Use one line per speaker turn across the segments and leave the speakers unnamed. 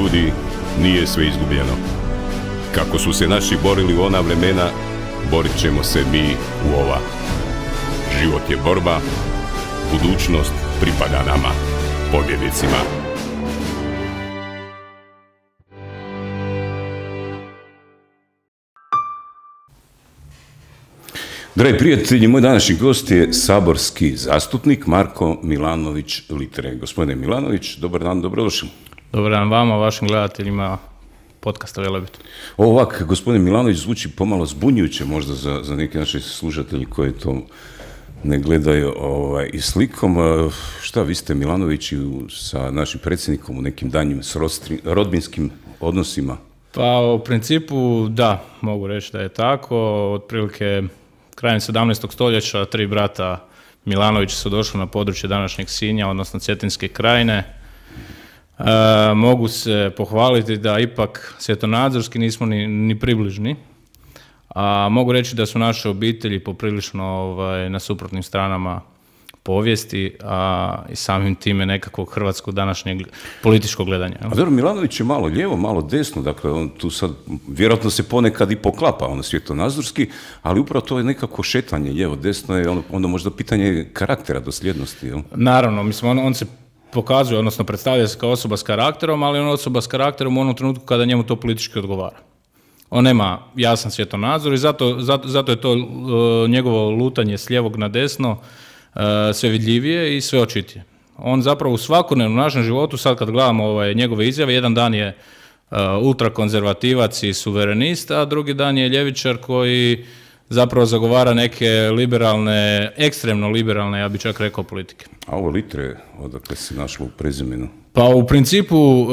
ljudi, nije sve izgubljeno. Kako su se naši borili u ona vremena, borit ćemo se mi u ova. Život je borba, budućnost pripada nama, pobjednicima. Dragi prijatelji, moj današnji gost je saborski zastupnik Marko Milanović-Litre. Gospodine Milanović, dobar dan, dobrodošli.
Dobar dan vama, vašim gledateljima podcasta Velebit.
Ovak, gospodin Milanović zvuči pomalo zbunjujuće možda za neke naše slušatelji koji to ne gledaju i slikom. Šta, vi ste Milanovići sa našim predsjednikom u nekim danjim rodbinskim odnosima?
Pa u principu da, mogu reći da je tako. Otprilike krajem 17. stoljeća 3 brata Milanovića su došli na područje današnjeg Sinja, odnosno Cetinske krajine. Mogu se pohvaliti da ipak svjetonazorski nismo ni približni, a mogu reći da su naše obitelji poprilično na suprotnim stranama povijesti, a i samim time nekakvog hrvatskog današnjeg političkog gledanja.
A dobro, Milanović je malo lijevo, malo desno, dakle on tu sad vjerojatno se ponekad i poklapa svjetonazorski, ali upravo to je nekako šetanje lijevo, desno je onda možda pitanje karaktera, dosljednosti. Jel?
Naravno, mislim on se pokazuje, odnosno predstavlja se kao osoba s karakterom, ali on osoba s karakterom u onom trenutku kada njemu to politički odgovara. On nema jasan svjetonazor i zato je to njegovo lutanje s lijevog na desno sve vidljivije i sve očitije. On zapravo u svakodnevnom našem životu, sad kad gledamo njegove izjave, jedan dan je ultrakonzervativac i suverenist, a drugi dan je ljevičar koji zapravo zagovara neke liberalne, ekstremno liberalne, ja bih čak rekao, politike.
A ovo Litre, odakle se našlo u prezimenu?
Pa u principu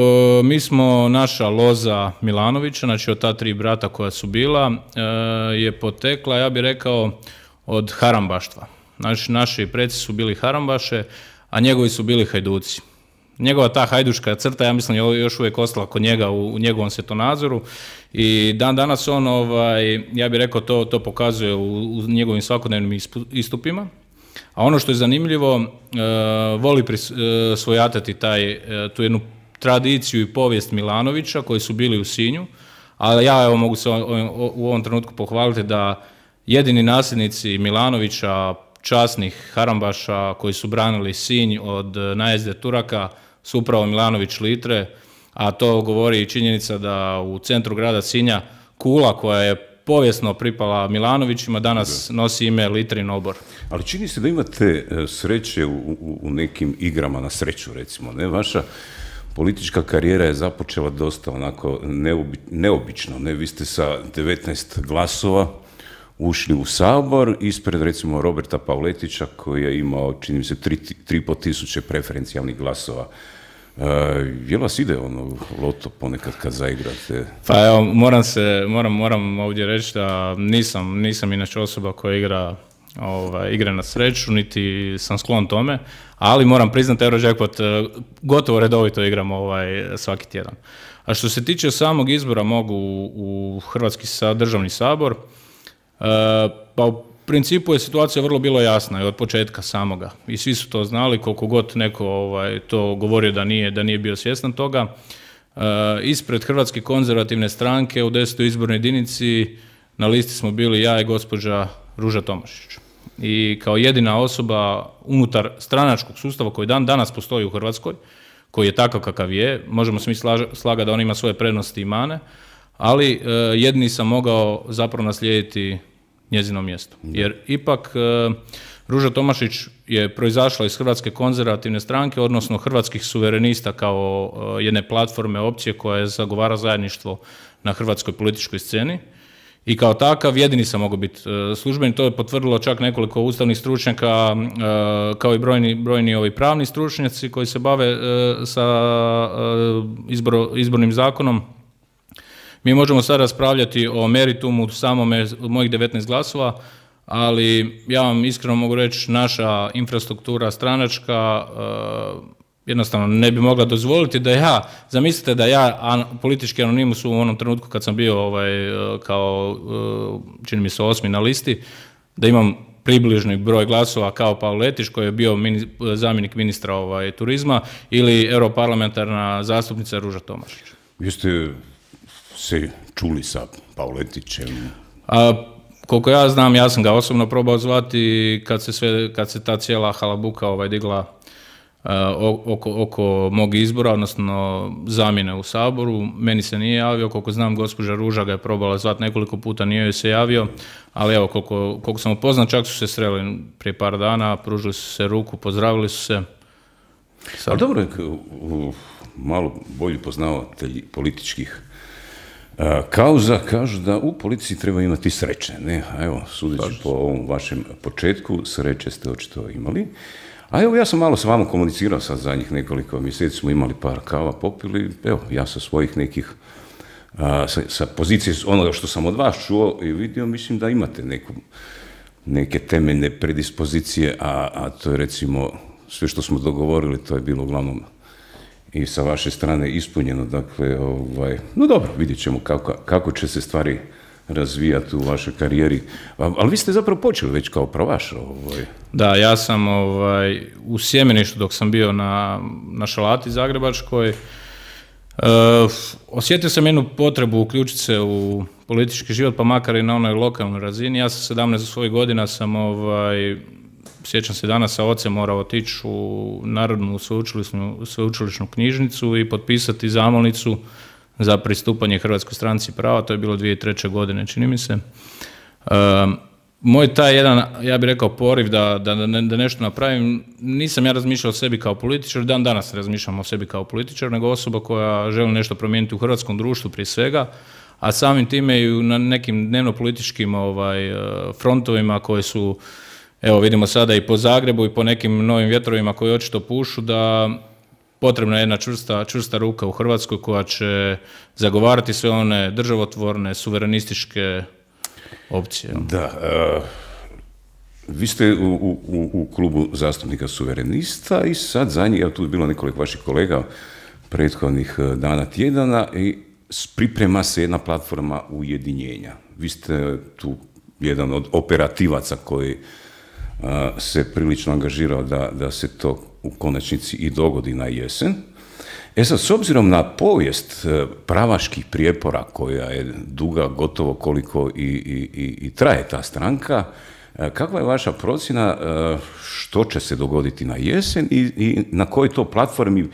mi smo, naša loza Milanovića, znači od ta 3 brata koja su bila, je potekla, ja bih rekao, od harambaštva. Znači, naši preci su bili harambaše, a njegovi su bili hajduci. Njegova ta hajduška crta, ja mislim, je još uvijek ostala kod njega u njegovom svjetonazoru i dan danas on, ja bih rekao, to pokazuje u njegovim svakodnevnim istupima. A ono što je zanimljivo, voli svojatati tu jednu tradiciju i povijest Milanovića koji su bili u Sinju, ali ja mogu se u ovom trenutku pohvaliti da jedini nasljednici Milanovića, časnih harambaša koji su branili Sinj od najezde Turaka, su upravo Milanović-Litre, a to govori i činjenica da u centru grada Sinja kula koja je povijesno pripala Milanovićima danas nosi ime Litrin obor.
Ali čini se da imate sreće u nekim igrama na sreću, recimo, ne? Vaša politička karijera je započela dosta onako neobično, ne? Vi ste sa 19 glasova ušli u Sabor ispred, recimo, Roberta Pavletića koji je imao, čini mi se, 3,5 tisuće preferencijalnih glasova. Je li vas ide loto ponekad kad zaigrate?
Pa evo, moram ovdje reći da nisam inače osoba koja igra igre na sreću, niti sam sklon tome, ali moram priznati Eurojackpot gotovo redovito igram svaki tjedan. A što se tiče samog izbora mogu u Hrvatski državni sabor, pa u principu je situacija vrlo bilo jasna i od početka samoga i svi su to znali, koliko god neko to govorio da nije bio svjestan toga. Ispred Hrvatske konzervativne stranke u 10. izbornoj jedinici na listi smo bili ja i gospođa Ruža Tomašić. I kao jedina osoba unutar stranačkog sustava koji danas postoji u Hrvatskoj, koji je takav kakav je, možemo se mi slagati da on ima svoje prednosti i mane, ali jedini sam mogao zapravo naslijediti njezino mjesto. Jer ipak Ruža Tomašić je proizašla iz Hrvatske konzervativne stranke, odnosno Hrvatskih suverenista kao jedne platforme opcije koja je zagovara zajedništvo na hrvatskoj političkoj sceni. I kao takav jedini sam mogao biti službeni. To je potvrdilo čak nekoliko ustavnih stručnjaka, kao i brojni pravni stručnjaci koji se bave sa izbornim zakonom. Mi možemo sad raspravljati o meritumu samome mojih 19 glasova, ali ja vam iskreno mogu reći, naša infrastruktura stranačka jednostavno ne bi mogla dozvoliti da zamislite da ja politički anonimus u onom trenutku kad sam bio kao, čini mi se, 8. na listi, da imam približni broj glasova kao Pavletić koji je bio zamjenik ministra turizma ili europarlamentarna zastupnica Ruža Tomašić.
Jeste se čuli sa Pavletićem?
Koliko ja znam, ja sam ga osobno probao zvati kad se ta cijela halabuka digla oko mog izbora, odnosno zamjene u Saboru. Meni se nije javio, koliko znam gospođa Ruža ga je probala zvati nekoliko puta, nije joj se javio, ali evo koliko sam upoznat, čak su se sreli prije par dana, pružili su se ruku, pozdravili su se.
Ali dobro, malo bolji poznavatelji političkih kauza kažu da u politici treba imati sreće, ne? A evo, sudeći po ovom vašem početku, sreće ste očito imali. A evo, ja sam malo s vama komunicirao sad zadnjih nekoliko mjeseci, smo imali par kava, popili, evo, ja sa svojih nekih, sa pozicije onoga što sam od vas čuo i vidio, mislim da imate neke temeljne predispozicije, a to je recimo, sve što smo dogovorili, to je bilo uglavnom i sa vaše strane ispunjeno, dakle, no dobro, vidjet ćemo kako će se stvari razvijati u vašoj karijeri, ali vi ste zapravo počeli već kao pravaš.
Da, ja sam u Sjemeništu dok sam bio na Šalati zagrebačkoj, osjetio sam jednu potrebu uključiti se u politički život, pa makar i na onoj lokalnoj razini. Ja sa 17 svojih godina sam, sjećam se danas, sa ocem morao otići u Narodnu sveučilišnu knjižnicu i potpisati zamolnicu za pristupanje Hrvatskoj stranci prava, to je bilo 2003. godine, čini mi se. Moj taj jedan, ja bih rekao, poriv da nešto napravim, nisam ja razmišljao o sebi kao političar, dan danas razmišljam o sebi kao političar, nego osoba koja želi nešto promijeniti u hrvatskom društvu prije svega, a samim time i na nekim dnevno-političkim frontovima koji su, evo vidimo sada i po Zagrebu i po nekim novim vjetrovima koji očito pušu, da potrebna je jedna čvrsta ruka u Hrvatskoj koja će zagovarati sve one državotvorne, suverenističke opcije.
Da, vi ste u klubu zastupnika suverenista i sad zadnji, evo tu je bilo nekoliko vaših kolega prethodnih dana, tjedana i priprema se jedna platforma ujedinjenja. Vi ste tu jedan od operativaca koji se prilično angažirao da se to u konačnici i dogodi na jesen. Sad, s obzirom na povijest pravaških prijepora koja je duga gotovo koliko i traje ta stranka, kakva je vaša procjena što će se dogoditi na jesen i na kojoj to platformi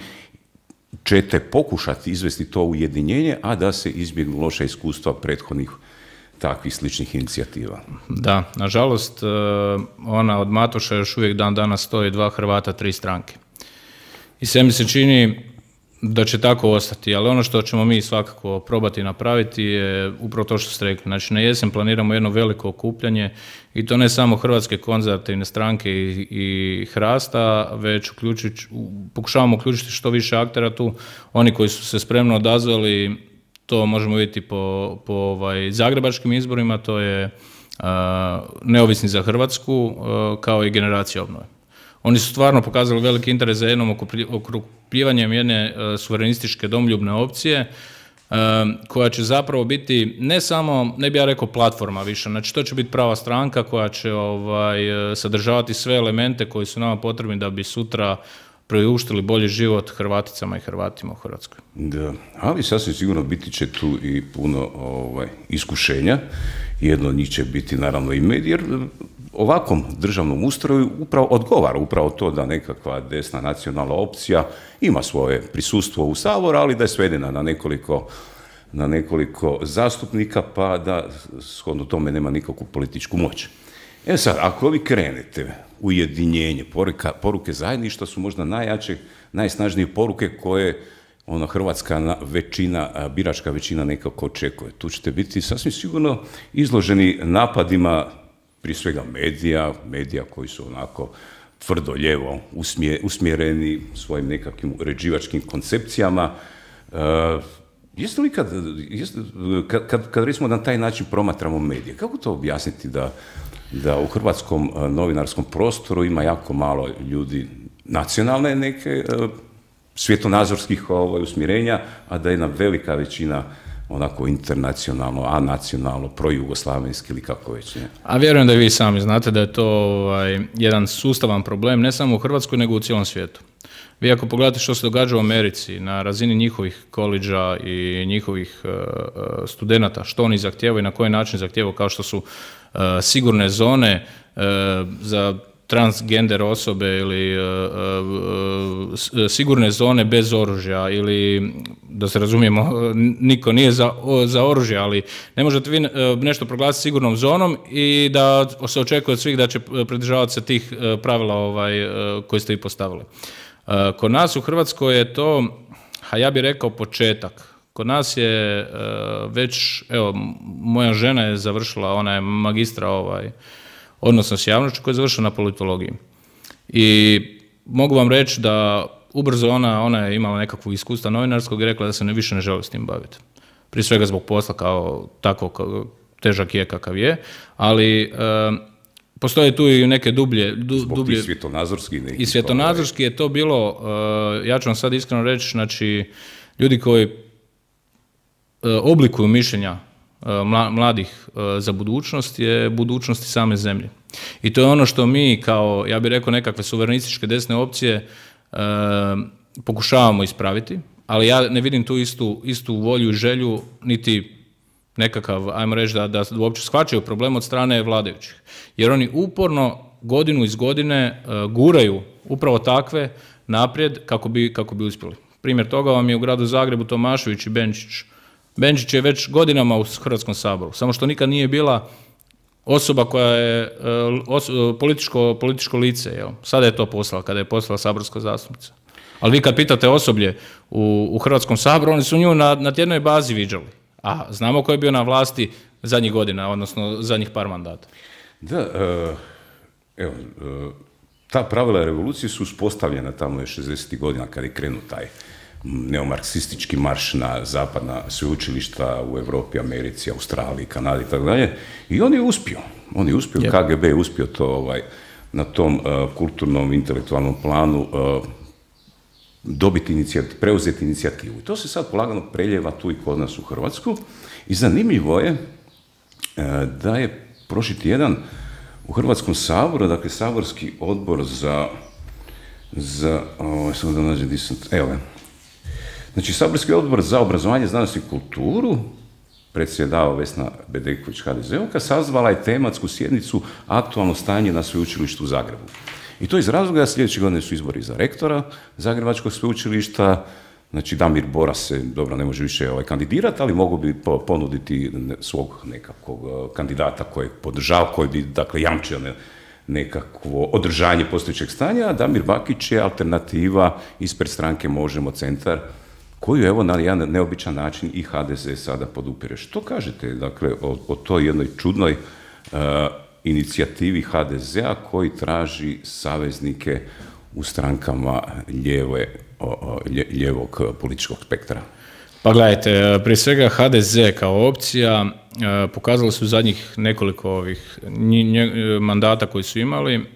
ćete pokušati izvesti to ujedinjenje, a da se izbjegnu loša iskustva prethodnih takvih sličnih inicijativa?
Da, nažalost, ona od Matoša još uvijek dan danas stoji 2 Hrvata, 3 stranke. I sve mi se čini da će tako ostati, ali ono što ćemo mi svakako probati napraviti je upravo to što ste rekli. Znači, na jesen planiramo jedno veliko okupljanje i to ne samo Hrvatske konzervativne stranke i Hrasta, već pokušavamo uključiti što više aktera tu. Oni koji su se spremno odazvali, to možemo vidjeti po zagrebačkim izborima, to je Neovisni za Hrvatsku, kao i Generacija obnove. Oni su stvarno pokazali veliki interes za jednom okrupljivanjem jedne suverenističke domljubne opcije, koja će zapravo biti ne samo, ne bi ja rekao platforma više, znači to će biti prava stranka koja će sadržavati sve elemente koji su nama potrebni da bi sutra priuštili bolji život Hrvaticama i Hrvatima u Hrvatskoj.
Da, ali sasvim sigurno biti će tu i puno iskušenja. Jedno od njih će biti naravno i medij, jer ovakvom državnom ustroju upravo odgovara upravo to da nekakva desna nacionalna opcija ima svoje prisustvo u Saboru, ali da je svedena na nekoliko zastupnika, pa da shodno tome nema nikakvu političku moć. Sad, ako vi krenete ujedinjenje, poruke zajedništva su možda najjače, najsnažnije poruke koje hrvatska većina, biračka većina nekako očekuje. Tu ćete biti sasvim sigurno izloženi napadima, prije svega medija koji su onako tvrdo lijevo usmjereni svojim nekakvim uređivačkim koncepcijama. Jeste li kad recimo na taj način promatramo medije, kako to objasniti da u hrvatskom novinarskom prostoru ima jako malo ljudi nacionalne neke svjetonazorskih usmjerenja, a da je jedna velika većina onako internacionalno, anacionalno, projugoslavenski ili kako već ne.
A vjerujem da i vi sami znate da je to jedan sustavan problem, ne samo u Hrvatskoj, nego u cijelom svijetu. Vi ako pogledate što se događa u Americi na razini njihovih koledža i njihovih studenata, što oni zahtijevaju i na koji način zahtijevaju, kao što su sigurne zone za transgender osobe ili sigurne zone bez oružja ili, da se razumijemo, niko nije za oružje, ali ne možete vi nešto proglasiti sigurnom zonom i da se očekuje od svih da će pridržavati se tih pravila koje ste i postavili. Kod nas u Hrvatskoj je to, a ja bih rekao, početak. Kod nas je već, evo, moja žena je završila, ona je magistra odnosno s javnošću, koja je završila na politologiji. I mogu vam reći da ubrzo ona je imala nekakvu iskustva novinarskog i rekla da se više ne želi s tim baviti. Prije svega zbog posla kao tako težak je kakav je, ali postoje tu i neke dublje...
Zbog tih svjetonazorskih nekih...
I svjetonazorski je to bilo, ja ću vam sad iskreno reći, znači, ljudi koji oblikuju mišljenja mladih za budućnost je budućnosti same zemlje. I to je ono što mi kao, ja bih rekao, nekakve suverenističke desne opcije pokušavamo ispraviti, ali ja ne vidim tu istu volju i želju, niti nekakav, ajmo reći, da uopće shvaćaju problem od strane vladajućih. Jer oni uporno, godinu iz godine, guraju upravo takve naprijed kako bi uspjeli. Primjer toga vam je u gradu Zagrebu Tomašević i Benčić. Benčić je već godinama u Hrvatskom saboru, samo što nikad nije bila osoba koja je političko lice. Jel? Sada je to poslala, kada je postala saborska zastupnica. Ali vi kad pitate osoblje u Hrvatskom saboru, oni su nju na tjednoj bazi viđali. A znamo ko je bio na vlasti zadnjih godina, odnosno zadnjih par mandata.
Da, evo, ta pravila revolucije su uspostavljena tamo 60. godina kada je krenuo taj neomarksistički marš na zapadna sveučilišta u Europi, Americi, Australiji, Kanadi i tako dalje. I on je uspio. KGB je uspio to na tom kulturnom, intelektualnom planu preuzeti inicijativu. I to se sad polagano preljeva tu i kod nas u Hrvatsku. I zanimljivo je da je prošli tjedan u Hrvatskom saboru, dakle saborski odbor znači saborski odbor za obrazovanje, znanost i kulturu, predsjedava Vesna Bedeković HDZ-ovka, sazvala je tematsku sjednicu aktualno stanje na sveučilištu u Zagrebu. I to iz razloga da sljedeće godine su izbori za rektora Zagrebačkog sveučilišta. Znači Damir Boras se, dobro, ne može više kandidirati, ali mogu bi ponuditi svog nekakvog kandidata kojeg podržava, koji bi, dakle, jamčio nekakvo održanje postojećeg stanja, a Damir Bakić je alternativa ispred stranke Možemo Centar, koju, evo, na jedan neobičan način i HDZ sada podupire. Što kažete, dakle, o toj jednoj čudnoj inicijativi HDZ-a koji traži saveznike u strankama lijevog političkog spektra?
Pa gledajte, prije svega HDZ kao opcija pokazali su zadnjih nekoliko mandata koji su imali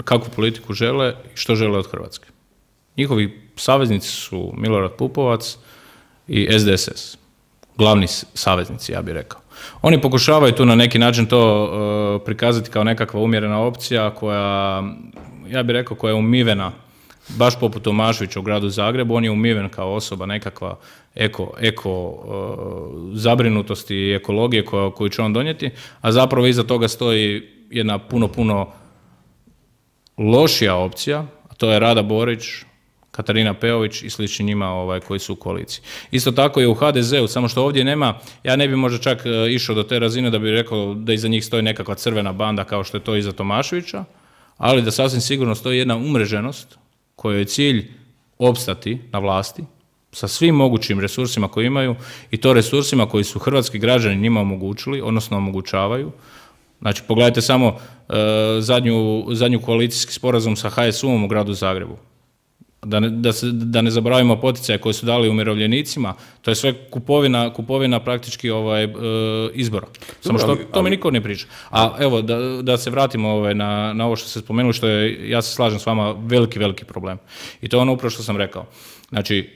kakvu politiku žele i što žele od Hrvatske. Njihovi saveznici su Milorad Pupovac i SDSS. Glavni saveznici, ja bih rekao. Oni pokušavaju tu na neki način to prikazati kao nekakva umjerena opcija koja, ja bih rekao, koja je umivena, baš poput Tomaševića u gradu Zagrebu. On je umiven kao osoba nekakva eko zabrinutosti i ekologije koju će on donijeti, a zapravo iza toga stoji jedna puno lošija opcija, a to je Rada Borić, Katarina Peović i slični njima koji su u koaliciji. Isto tako je u HDZ-u, samo što ovdje nema, ja ne bi možda čak išao do te razine da bi rekao da iza njih stoji nekakva crvena banda kao što je to iza Tomaševića, ali da sasvim sigurno stoji jedna umreženost kojoj je cilj opstati na vlasti sa svim mogućim resursima koje imaju i to resursima koji su hrvatski građani njima omogućili, odnosno omogućavaju. Znači, pogledajte samo zadnju koalicijski sporazum sa HSU-om u gradu Zagrebu. Da ne zaboravimo poticaje koje su dali umirovljenicima, to je sve kupovina praktički izbora. Samo što tome niko ne priča. A evo, da se vratimo na ovo što ste spomenuli, što je, ja se slažem s vama, veliki problem. I to je ono upravo što sam rekao. Znači,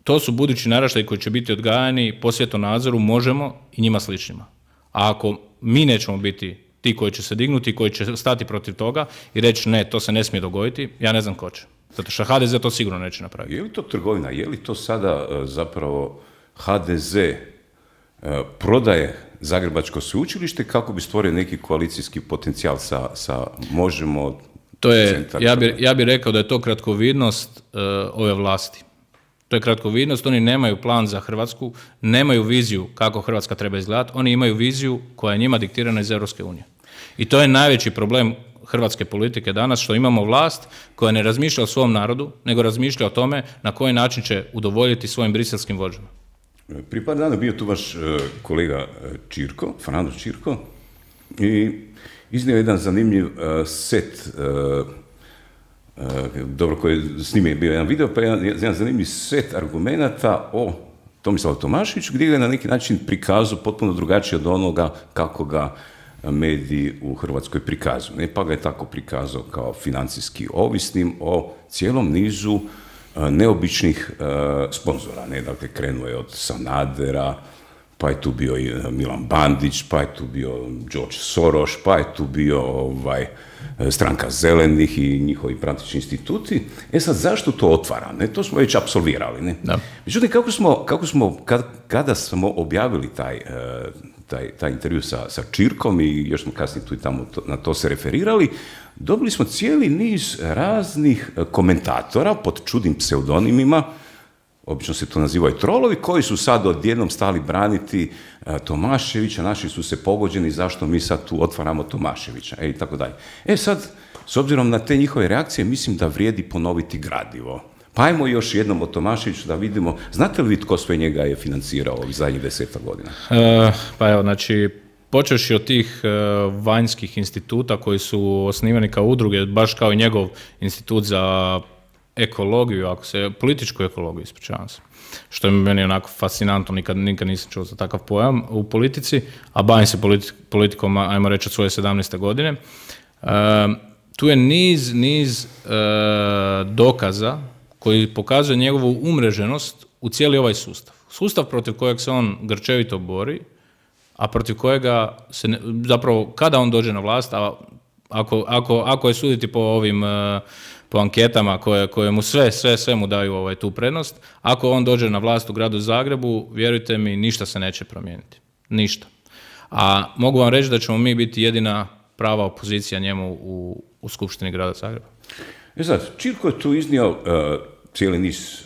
to su budući naraštaji koji će biti odgajani po svjetonadzoru Možemo i njima sličnima. A ako mi nećemo biti ti koji će se dignuti, koji će stati protiv toga i reći ne, to se ne smije dogoditi, ja ne znam ko će. Zato što HDZ to sigurno neće napraviti.
Je li to trgovina? Je li to sada zapravo HDZ prodaje Zagrebačko sveučilište kako bi stvorio neki koalicijski potencijal sa Možemo?
To je, ja bi rekao da je to kratkovidnost ove vlasti. To je kratkovidnost, oni nemaju plan za Hrvatsku, nemaju viziju kako Hrvatska treba izgledati, oni imaju viziju koja je njima diktirana iz Europske unije. I to je najveći problem hrvatske politike danas, što imamo vlast koja ne razmišlja o svom narodu, nego razmišlja o tome na koji način će udovoljiti svojim briselskim vođama.
Prije par dana bio tu vaš kolega Čirko, Frano Čirko, i iznio jedan zanimljiv set, dobro, koji s njim je bio jedan video, pa jedan zanimljiv set argumenata o Tomislavu Tomaševiću, gdje ga je na neki način prikazao potpuno drugačije od onoga kako ga mediji u Hrvatskoj prikazuju. Pa ga je tako prikazao kao financijski ovisnim o cijelom nizu neobičnih sponzora. Dakle, krenuo je od Sanadera, pa je tu bio i Milan Bandić, pa je tu bio George Soros, pa je tu bio stranka zelenih i njihovi praktični instituti. Sad, zašto to otvara? To smo već apsolvirali. Da. Međutim, kada smo objavili taj intervju sa Čirkom i još smo kasnije tu i tamo na to se referirali, dobili smo cijeli niz raznih komentatora pod čudnim pseudonimima, obično se to nazivaju trolovi, koji su sad odjednom stali braniti Tomaševića, naši su se pogođeni, zašto mi sad tu otvaramo Tomaševića, i tako dalje. Sad, s obzirom na te njihove reakcije, mislim da vrijedi ponoviti gradivo. Pa ajmo još jednom o Tomaševiću da vidimo, znate li vi tko sve njega je financirao ovih zadnjih 10 godina?
Pa evo, znači, počevši od tih vanjskih instituta koji su osnivani kao udruge, baš kao i njegov institut za ekologiju, političku ekologiju, ispričavam se, što je meni onako fascinantno, nikad nisam čuo za takav pojam u politici, a bavim se politikom, ajmo reći, od svoje 17. godine. Tu je niz dokaza koji pokazuje njegovu umreženost u cijeli ovaj sustav. Sustav protiv kojeg se on grčevito bori, a protiv kojega se, zapravo, kada on dođe na vlast, a ako je suditi po anketama koje mu sve mu daju tu prednost, ako on dođe na vlast u gradu Zagrebu, vjerujte mi, ništa se neće promijeniti. Ništa. A mogu vam reći da ćemo mi biti jedina prava opozicija njemu u Skupštini grada Zagreba.
Sad, Čirko je tu iznio cijeli niz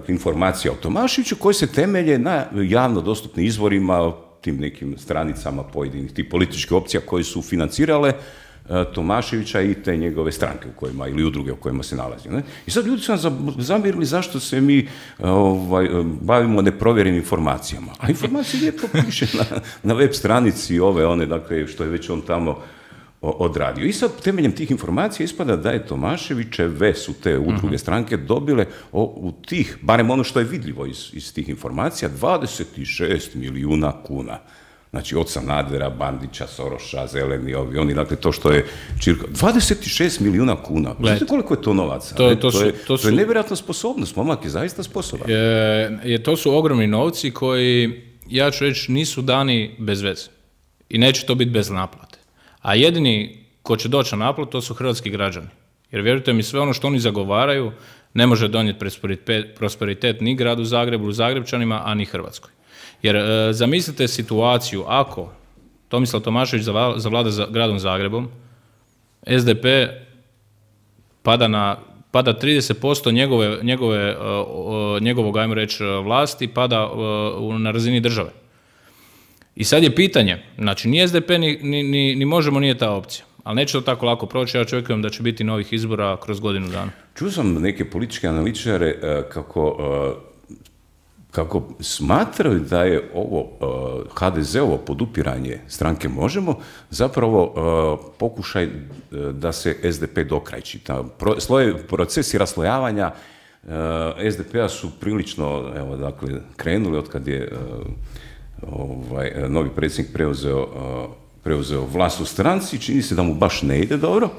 informacija o Tomaševiću koji se temelje na javno dostupnim izvorima, tim nekim stranicama pojedinih tih političkih opcija koji su financirale Tomaševića i te njegove stranke u kojima, ili udruge u kojima se nalazi. I sad ljudi su nam zamjerili zašto se mi bavimo neprovjerenim informacijama. A informacije lijepo piše na web stranici dakle, što je već on tamo odradio. I sad temeljem tih informacija ispada da je Tomaševićeve su te udruge stranke dobile u tih, barem ono što je vidljivo iz tih informacija, 26 milijuna kuna. Znači, od Sanadera, Bandića, Soroša, zeleni, oni, dakle, to što je Čirko. 26 milijuna kuna. Znate koliko je to novaca? To je nevjerojatna sposobnost. Momak je zaista sposoban.
To su ogromni novci koji, ja ću reći, nisu dani bez veze. I neće to biti bez naplate. A jedini ko će doći na naplatu, to su hrvatski građani. Jer vjerujte mi, sve ono što oni zagovaraju ne može donijeti prosperitet ni gradu Zagrebu, Zagrebčanima, a ni Hrvatskoj. Jer zamislite situaciju, ako Tomislav Tomašević zavlada gradom Zagrebom, SDP pada 30% njegovog, ajmo reći, vlasti, pada na razini države. I sad je pitanje, znači ni SDP ni Možemo nije ta opcija, ali neće to tako lako proći, ja očekujem da će biti novih izbora kroz godinu dana.
Čuo sam neke političke analitičare kako smatraju da je ovo HDZ-ovo podupiranje stranke Možemo zapravo pokušaj da se SDP dokrajči. Procesi raslojavanja SDP-a su prilično krenuli od kad je novi predsjednik preuzeo vlast u stranci, čini se da mu baš ne ide dobro.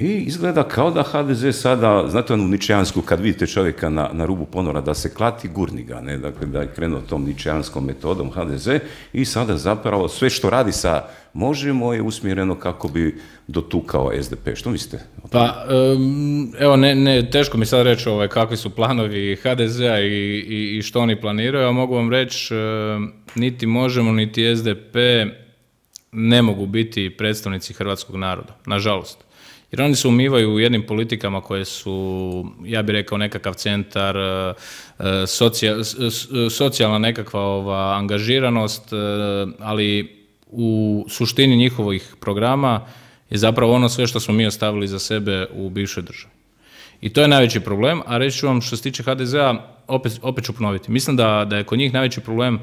I izgleda kao da HDZ sada, znate onu ničejansku, kad vidite čovjeka na rubu ponora da se klati, gurni ga, ne? Dakle, da je krenuo tom ničejanskom metodom HDZ i sada zapravo sve što radi sa Možemo je usmjereno kako bi dotukao SDP. Što mislite?
Pa, evo, teško mi sad reći kakvi su planovi HDZ-a i što oni planiraju, a mogu vam reći, niti Možemo, niti SDP ne mogu biti predstavnici hrvatskog naroda, nažalost. Jer oni se umivaju u jednim politikama koje su, ja bih rekao, nekakav centar, socijalna nekakva angažiranost, ali u suštini njihovih programa je zapravo ono sve što smo mi ostavili za sebe u bivšoj državi. I to je najveći problem, a reći ću vam što se tiče HDZ-a, opet ću ponoviti. Mislim da je kod njih najveći problem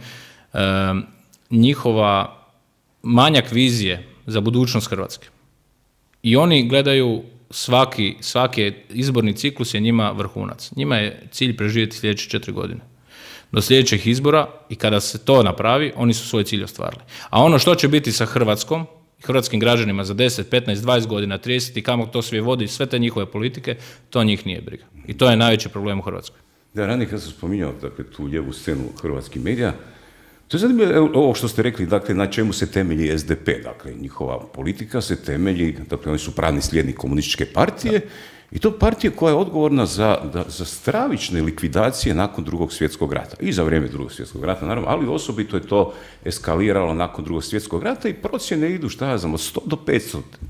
njihova manjak vizije za budućnost Hrvatske. I oni gledaju svaki izborni ciklus je njima vrhunac. Njima je cilj preživjeti sljedeće 4 godine. Do sljedećih izbora i kada se to napravi, oni su svoj cilj ostvarili. A ono što će biti sa Hrvatskom, hrvatskim građanima za 10, 15, 20 godina, 30 i kamo to sve vodi, sve te njihove politike, to njih nije briga. I to je najveći problem u Hrvatskoj.
Da, ranije kad sam spominjao dakle, tu lijevu scenu hrvatskih medija, to je zanimljivo ovo što ste rekli, dakle, na čemu se temelji SDP, dakle, njihova politika se temelji, dakle, oni su pravni slijednik komunističke partije, i to partije koja je odgovorna za stravične likvidacije nakon Drugog svjetskog rata. I za vrijeme Drugog svjetskog rata, naravno, ali osobito je to eskaliralo nakon Drugog svjetskog rata i procjene idu, šta ja znam, od 100 do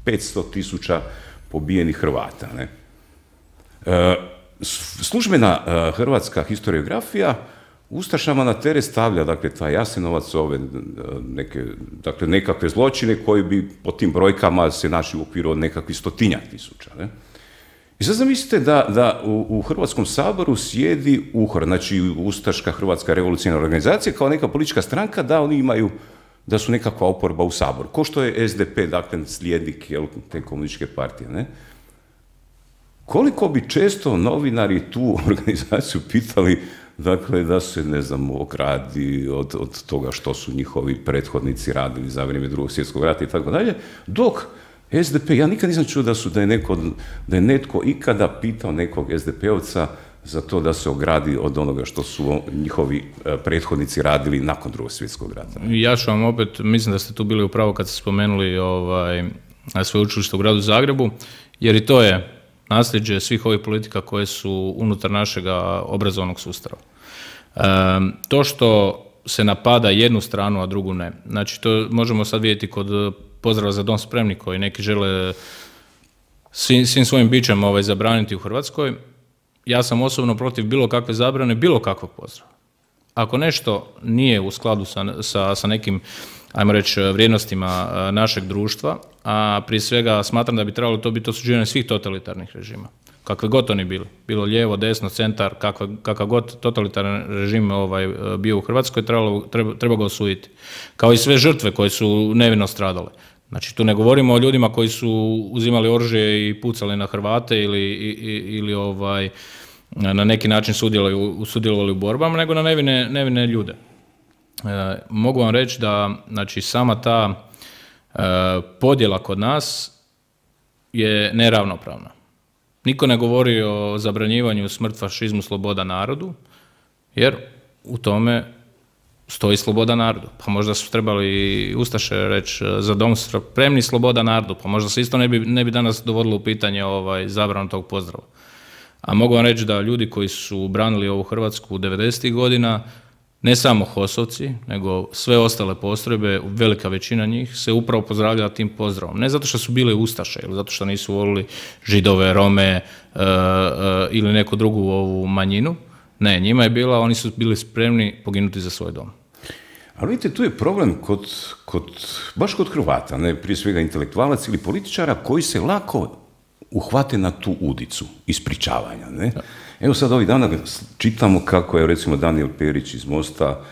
500 tisuća pobijenih Hrvata. Ne? Službena hrvatska historiografija ustašama na teret stavlja, dakle, taj Jasenovac, ove nekakve zločine koji bi po tim brojkama se našli u okviru od nekakvih 100-tinjak tisuća. Ne? I sad zamislite da u Hrvatskom saboru sjedi UHOR, znači Ustaška Hrvatska revolucionarna organizacija, kao neka politička stranka, da oni imaju, da su nekakva oporba u saboru. Ko što je SDP, dakle, slijednik te komunističke partije, ne? Koliko bi često novinari tu organizaciju pitali, dakle, da se, ne znam, ogradi od toga što su njihovi prethodnici radili za vrijeme Drugog svjetskog rata i tako dalje, dok SDP, ja nikad nisam čuo da je netko ikada pitao nekog SDP-ovca za to da se ogradi od onoga što su njihovi prethodnici radili nakon Drugog svjetskog rata.
Ja ću vam opet, mislim da ste tu bili u pravu kad ste spomenuli sveučilište u gradu Zagrebu, jer i to je nasljeđe svih ovih politika koje su unutar našega obrazovnog sustava. To što se napada jednu stranu, a drugu ne. Znači, to možemo sad vidjeti kod pozdrava za dom spremni koji neki žele svim svojim bićem zabraniti u Hrvatskoj. Ja sam osobno protiv bilo kakve zabrane, bilo kakvog pozdrava. Ako nešto nije u skladu sa nekim, ajmo reći, vrijednostima našeg društva, a prije svega smatram da bi trebalo to biti osuđivanje svih totalitarnih režima, kakve god oni bili, bilo lijevo, desno, centar, kakav god totalitarni režim bio u Hrvatskoj, treba ga osuditi. Kao i sve žrtve koje su nevino stradale. Znači, tu ne govorimo o ljudima koji su uzimali oružje i pucali na Hrvate ili na neki način sudjelovali u borbama, nego na nevine ljude. Mogu vam reći da, znači, sama ta podjela kod nas je neravnopravna. Niko ne govori o zabranjivanju smrt, fašizmu, sloboda narodu, jer u tome stoji sloboda narodu. Pa možda su trebali ustaše reći za dom spremni, sloboda narodu, pa možda se isto ne bi danas dovodilo u pitanje zabranu tog pozdrava. A mogu vam reći da ljudi koji su branili ovu Hrvatsku u 90. godina, ne samo HOS-ovci, nego sve ostale postrojbe, velika većina njih, se upravo pozdravljala tim pozdravom. Ne zato što su bile ustaše, ili zato što nisu volili Židove, Rome ili neku drugu ovu manjinu. Ne, njima je bila, oni su bili spremni poginuti za svoj dom.
Ali vidite, tu je problem baš kod Hrvata, ne, prije svega intelektualaca ili političara koji se lako uhvate na tu udicu ispričavanja. Ne? Evo sad ovih dana čitamo kako je recimo Danijel Perić iz Mosta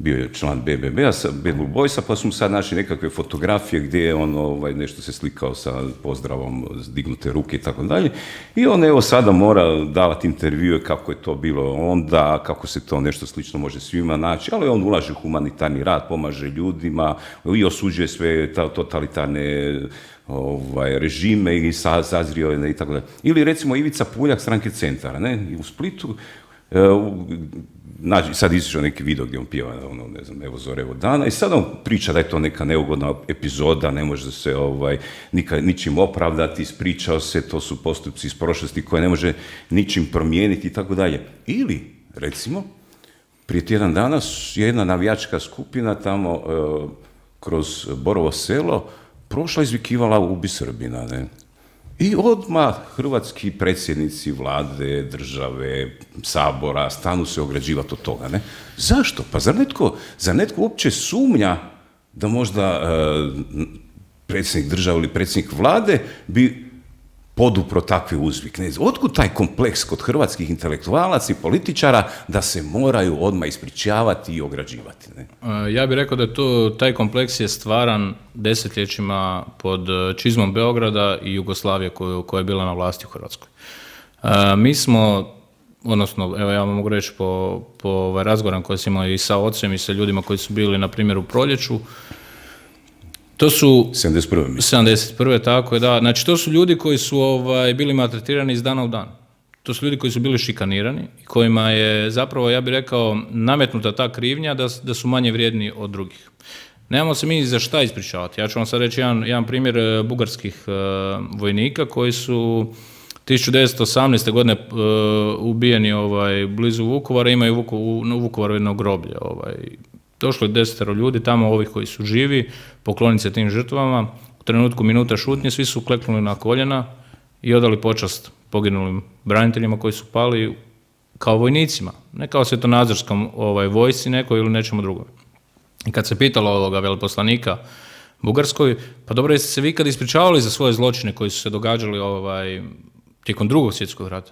bio je član BBB-a, Bad Blue Boysa, pa su mu sad našli nekakve fotografije gdje je on nešto se slikao sa pozdravom, dignute ruke i tako dalje. I on evo sada mora davati intervjue kako je to bilo onda, kako se to nešto slično može svima naći, ali on ulaže u humanitarni rad, pomaže ljudima i osuđuje sve totalitarne režime i sazrio i tako dalje. Ili recimo Ivica Puljak, stranke Centara, ne, u Splitu, sad izišao neki video gdje on pjeva, ne znam, evo zore, evo dana, i sad on priča da je to neka neugodna epizoda, ne može se ničim opravdati, ispričao se, to su postupci iz prošlosti koje ne može ničim promijeniti i tako dalje. Ili, recimo, prije tjedan dana jedna navijačka skupina tamo kroz Borovo Selo prošla izvikivala ubi Srbina, ne? I odmah hrvatski predsjednici vlade, države, sabora stanu se ograđivati od toga, ne? Zašto? Pa zar netko uopće sumnja da možda predsjednik države ili predsjednik vlade bi podupro takve uzvik? Ne? Otkud taj kompleks kod hrvatskih intelektualaca i političara da se moraju odmah ispričavati i ograđivati? Ne?
Ja bih rekao da taj kompleks je stvaran desetljećima pod čizmom Beograda i Jugoslavije koja je bila na vlasti u Hrvatskoj. Mi smo, odnosno, evo ja vam mogu reći po razgovoram koje sam imao i sa ocem i sa ljudima koji su bili, na primjer, u Proljeću, to su 71. Tako je, da. Znači, to su ljudi koji su bili maltretirani iz dana u dan. To su ljudi koji su bili šikanirani i kojima je zapravo, ja bih rekao, nametnuta ta krivnja da su manje vrijedni od drugih. Nemamo se mi za šta ispričavati. Ja ću vam sad reći jedan primjer bugarskih vojnika koji su 1918. godine ubijeni blizu Vukovara, imaju u Vukovaru jedno groblje. Došlo je 10 ljudi tamo, ovih koji su živi, pokloniti se tim žrtvama. U trenutku minuta šutnje svi su kleknuli na koljena i odali počast poginulim braniteljima koji su pali kao vojnicima, ne kao svjetonazorskom vojsci nekoj ili nečemu drugom. I kad se pitalo ovoga veleposlanika Bugarskoj, pa dobro, jeste se vi kad ispričavali za svoje zločine koji su se događali tijekom Drugog svjetskog rata?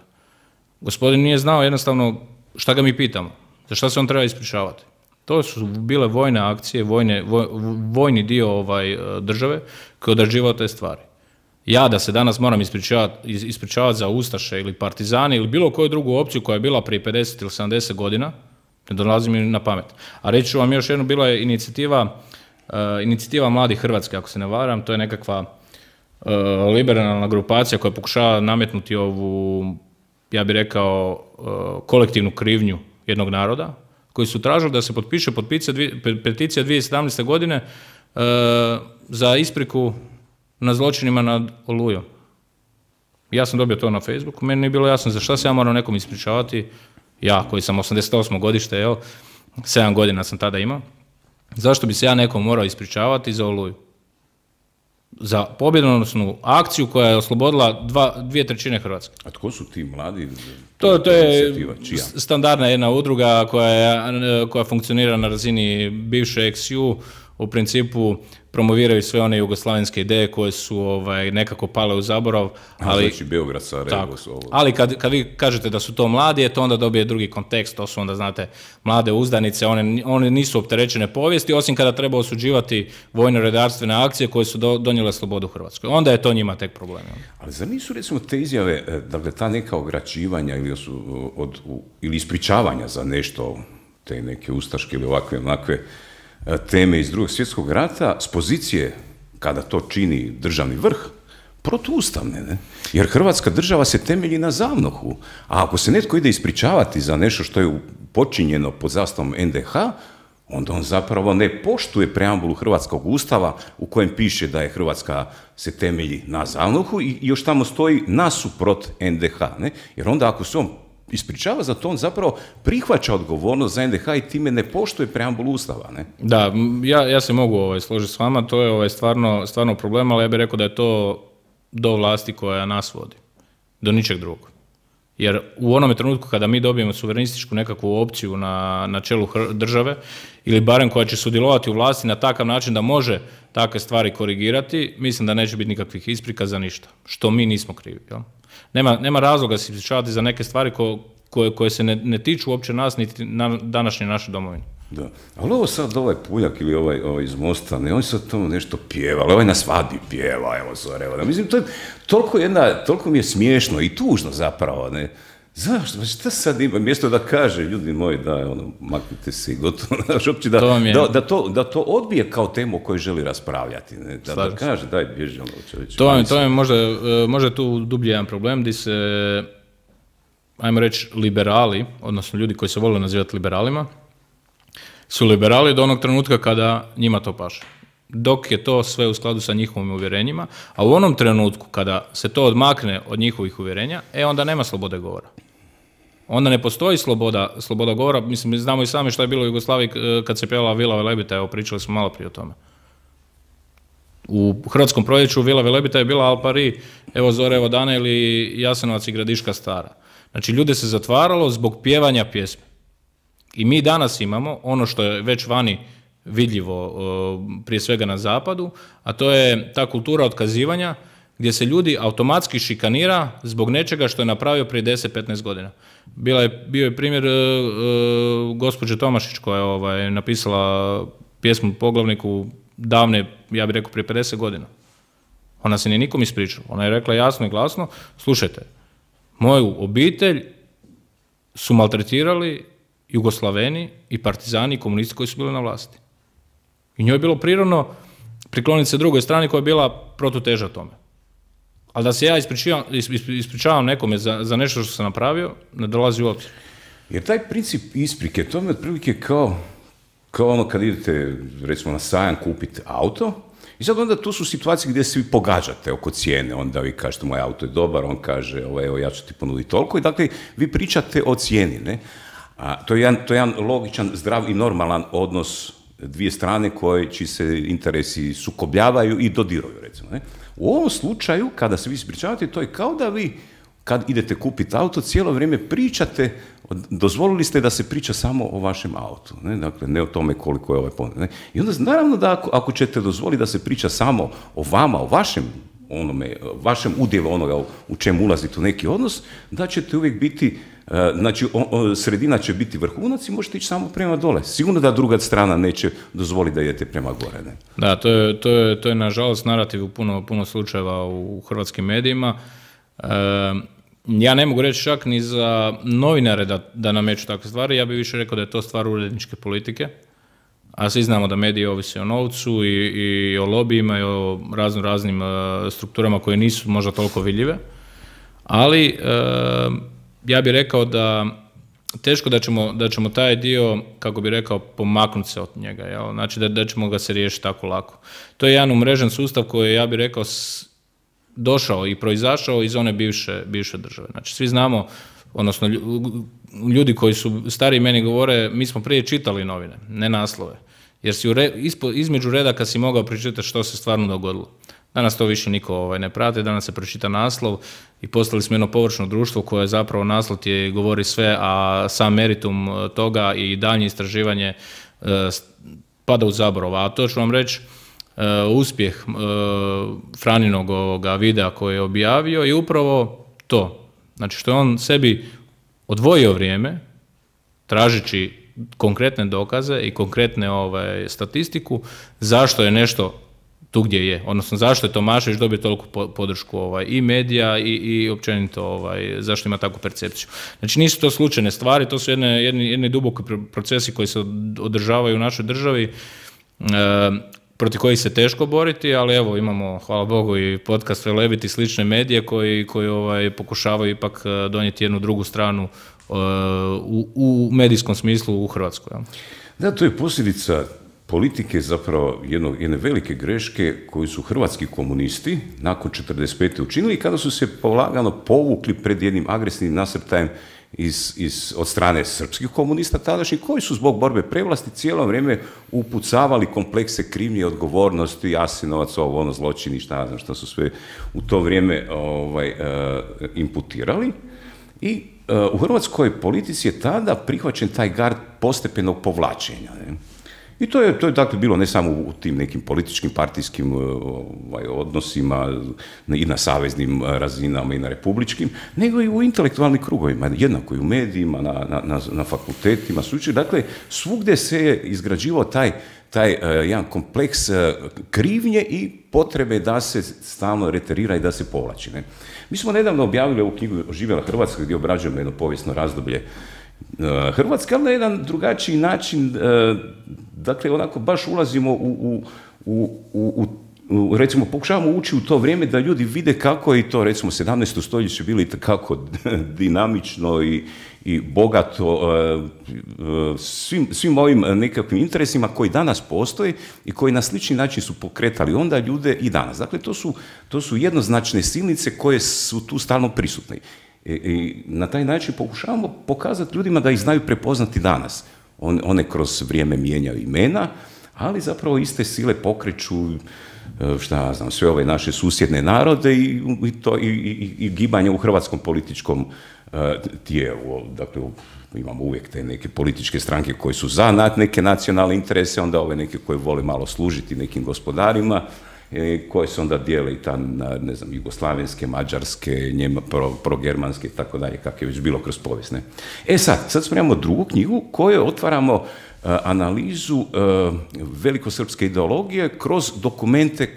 Gospodin nije znao jednostavno šta ga mi pitamo, za šta se on treba ispričavati. To su bile vojne akcije, vojni dio države koji je odrađivao te stvari. Ja da se danas moram ispričavati za ustaše ili partizani ili bilo koju drugu opciju koja je bila prije 50 ili 70 godina, ne dolazi mi na pamet. A reći ću vam još jednu, bila je inicijativa Mladih Hrvatske, ako se ne varam, to je nekakva liberalna grupacija koja pokušava nametnuti ovu, ja bih rekao, kolektivnu krivnju jednog naroda, koji su tražili da se potpiše peticija 2017. godine za ispriku na zločinima nad Olujom. Ja sam dobio to na Facebooku, meni nije bilo jasno za šta se ja moram nekom ispričavati, ja koji sam 88. godište, 7 godina sam tada imao, zašto bi se ja nekom morao ispričavati za Oluju? Za pobjedonosnu akciju koja je oslobodila 2/3 Hrvatske.
A tko su ti mladi?
To je standardna jedna udruga koja funkcionira na razini bivše XU, u principu promoviraju sve one jugoslavenske ideje koje su nekako pale u zaborav.
Znači Beograd, Sarajevo su ovo.
Ali kad vi kažete da su to mladi, to onda dobije drugi kontekst, to su onda, znate, mlade uzdanice, one nisu opterećene povijesti, osim kada treba osuđivati vojno-redarstvene akcije koje su donijele slobodu u Hrvatskoj. Onda je to njima tek problem.
Ali zar nisu, recimo, te izjave, dakle, ta neka ograćivanja ili ispričavanja za nešto, te neke ustaške ili ovakve teme iz Drugog svjetskog rata, s pozicije, kada to čini državni vrh, protuustavne, ne? Jer Hrvatska država se temelji na ZAVNOH-u, a ako se netko ide ispričavati za nešto što je počinjeno pod zastavom NDH, onda on zapravo ne poštuje preambulu Hrvatskog ustava u kojem piše da je Hrvatska se temelji na ZAVNOH-u i još tamo stoji nasuprot NDH, ne? Jer onda ako se on ispričava za to, on zapravo prihvaća odgovornost za NDH i time ne poštuje preambulu Ustava, ne?
Da, ja se mogu složiti s vama, to je stvarno problem, ali ja bih rekao da je to do vlasti koja nas vodi, do ničeg drugog. Jer u onome trenutku kada mi dobijemo suverenističku nekakvu opciju na čelu države, ili barem koja će sudjelovati u vlasti na takav način da može takve stvari korigirati, mislim da neće biti nikakvih isprika za ništa, što mi nismo krivi. Jel? Nema razloga se ispričavati za neke stvari koje se ne tiču uopće nas, niti današnje naše domovine.
Da, ali ovo sad ovaj Puljak ili ovaj iz Mosta, ne, on sad to nešto pjeva, ali ovaj na svadbi pjeva, evo zore, evo, mislim, to je toliko mi je smiješno i tužno zapravo, ne, zašto, šta sad ima, mjesto da kaže, ljudi moji, da, ono, maknite se i gotovo, znaš, uopće da to odbije kao temu o kojoj želi raspravljati, ne, da kaže, daj, bježi, ono, čovječe.
To je možda tu dublje jedan problem, gdje se, ajmo reći, liberali, odnosno ljudi koji se vole nazivati liberalima, su liberali do onog trenutka kada njima to paše. Dok je to sve u skladu sa njihovim uvjerenjima, a u onom trenutku kada se to odmakne od njihovih uvjerenja, onda nema slobode govora. Onda ne postoji sloboda govora, mislim, znamo i sami što je bilo u Jugoslaviji kad se pjevala Vila Velebita, evo pričali smo malo prije o tome. U Hrvatskom proljeću Vila Velebita je bila Al Pari, evo zore, evo dane ili Jasenovac i Gradiška stara. Znači, ljude se zatvaralo zbog pjevanja pjesme. I mi danas imamo ono što je već vani vidljivo, prije svega na zapadu, a to je ta kultura otkazivanja gdje se ljudi automatski šikanira zbog nečega što je napravio prije 10-15 godina. Bio je primjer gospođe Tomašić koja je napisala pjesmu Poglavniku davne, ja bih rekao prije 50 godina. Ona se nije nikom ispričala. Ona je rekla jasno i glasno, slušajte, moju obitelj su maltretirali Jugoslaveni i partizani i komunisti koji su bili na vlasti. I njoj je bilo prirodno prikloniti se drugoj strani koja je bila protuteža tome. Ali da se ja ispričavam nekome za nešto što sam napravio, ne dolazi u obzir.
Jer taj princip isprike, to je otprilike kao ono kad idete, recimo, na sajam kupiti auto, i sad onda tu su situacije gdje se vi pogađate oko cijene, onda vi kažete moj auto je dobar, on kaže evo ja ću ti ponuditi toliko, i dakle vi pričate o cijeni, ne? A to je jedan logičan, zdrav i normalan odnos dvije strane čiji se interesi sukobljavaju i dodiruju, recimo. Ne? U ovom slučaju, kada se vi ispričavate, to je kao da vi, kad idete kupiti auto, cijelo vrijeme pričate, dozvolili ste da se priča samo o vašem autu, ne? Dakle, ne o tome koliko je ovaj ponud. Ne? I onda, naravno da ako ćete dozvoliti da se priča samo o vama, o vašem udjelu onoga u čemu ulazite u neki odnos, da ćete uvijek biti, znači sredina će biti vrhunac i možete ići samo prema dole. Sigurno da druga strana neće dozvoliti da idete prema gore. Ne?
Da, to je nažalost narativ u puno slučajeva u hrvatskim medijima. Ja ne mogu reći čak ni za novinare da nameću takve stvari, ja bih više rekao da je to stvar uredničke politike, a svi znamo da mediji ovise o novcu i o lobijima i o raznim strukturama koje nisu možda toliko vidljive, ali ja bih rekao da teško da ćemo taj dio, kako bih rekao, pomaknuti se od njega, jel? Znači da ćemo ga se riješiti tako lako. To je jedan umrežen sustav koji, ja bih rekao, došao i proizašao iz one bivše države. Znači svi znamo, odnosno ljudi koji su stariji meni govore, mi smo prije čitali novine, ne naslove. Jer si između redaka si mogao pročitati što se stvarno dogodilo. Danas to više niko ne prati, danas se pročita naslov i postali smo jedno površno društvo koje zapravo naslov ti govori sve, a sam meritum toga i daljnje istraživanje pada u zaborav. A to ću vam reći, uspjeh Franinog ovoga videa koji je objavio je upravo to. Znači što je on sebi odvojio vrijeme, tražeći konkretne dokaze i konkretne statistiku, zašto je nešto tu gdje je, odnosno zašto je Tomašević dobio toliku podršku i medija i općenito zašto ima takvu percepciju. Znači nisu to slučajne stvari, to su jedni duboki procesi koji se održavaju u našoj državi, protiv kojih se teško boriti, ali evo imamo, hvala Bogu, i podcast Velebit i slične medije koji pokušavaju ipak donijeti jednu drugu stranu u medijskom smislu u Hrvatskoj.
Da, to je posljedica politike, zapravo jedne velike greške koju su hrvatski komunisti nakon 1945. učinili kada su se polagano povukli pred jednim agresivnim nasrtajem od strane srpskih komunista tadašnjih, koji su zbog borbe prevlasti cijelo vrijeme upucavali komplekse krivnje i odgovornosti, Jasenovac, zločini, šta su sve u to vrijeme imputirali. I u hrvatskoj politici je tada prihvaćen taj gard postepenog povlačenja. Ne? I to je dakle bilo ne samo u tim nekim političkim, partijskim odnosima i na saveznim razinama i na republičkim, nego i u intelektualnim krugovima, jednako i u medijima, na fakultetima, dakle svugdje se je izgrađivao taj jedan kompleks krivnje i potrebe da se stalno reterira i da se povlači. Ne? Mi smo nedavno objavili ovu knjigu Oživjela Hrvatska gdje obrađujemo jedno povijesno razdoblje Hrvatske, ali na jedan drugačiji način, dakle onako baš ulazimo recimo pokušavamo ući u to vrijeme da ljudi vide kako je to recimo 17. stoljeće bilo itekako dinamično i bogato svim ovim nekakvim interesima koji danas postoje i koji na slični način su pokretali onda ljude i danas. Dakle, to su jednoznačne silnice koje su tu stalno prisutne. I na taj način pokušavamo pokazati ljudima da ih znaju prepoznati danas. One kroz vrijeme mijenjaju imena, ali zapravo iste sile pokreću sve ove naše susjedne narode i gibanje u hrvatskom političkom tijelu. Dakle, imamo uvijek te neke političke stranke koje su za neke nacionalne interese, onda ove neke koje vole malo služiti nekim gospodarima, koje se onda dijele i ne znam, jugoslavenske, mađarske, progermanske i tako dalje, kako je već bilo kroz povijest. Ne? Sad spremamo drugu knjigu koju otvaramo analizu velikosrpske ideologije kroz dokumente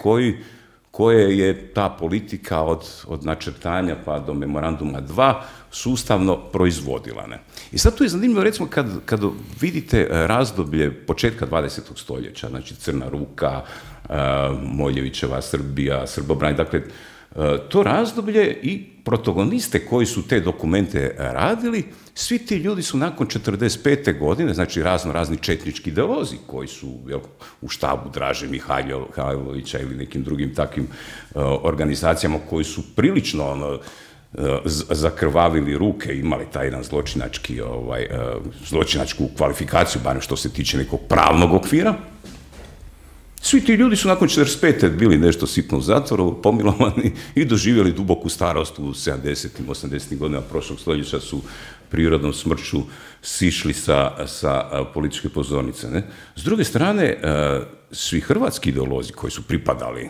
koje je ta politika od načrtanja pa do memoranduma 2 sustavno proizvodila. Ne? I sad tu je zanimljivo, recimo, kad vidite razdoblje početka 20. stoljeća, znači Crna Ruka, Moljevićeva Srbija, Srbobranje, dakle, to razdoblje i protagoniste koji su te dokumente radili, svi ti ljudi su nakon 45. godine, znači razni četnički ideolozi koji su u štabu Draže Mihajlovića ili nekim drugim takvim organizacijama koji su prilično zakrvavili ruke, imali taj jedan zločinačku kvalifikaciju, barem što se tiče nekog pravnog okvira. Svi ti ljudi su nakon 45. bili nešto sitno u zatvoru, pomilovani i doživjeli duboku starost u 70. 80. godina prošlog stoljeća, su prirodnom smrću sišli sa političke pozornice. Ne? S druge strane, svi hrvatski ideolozi koji su pripadali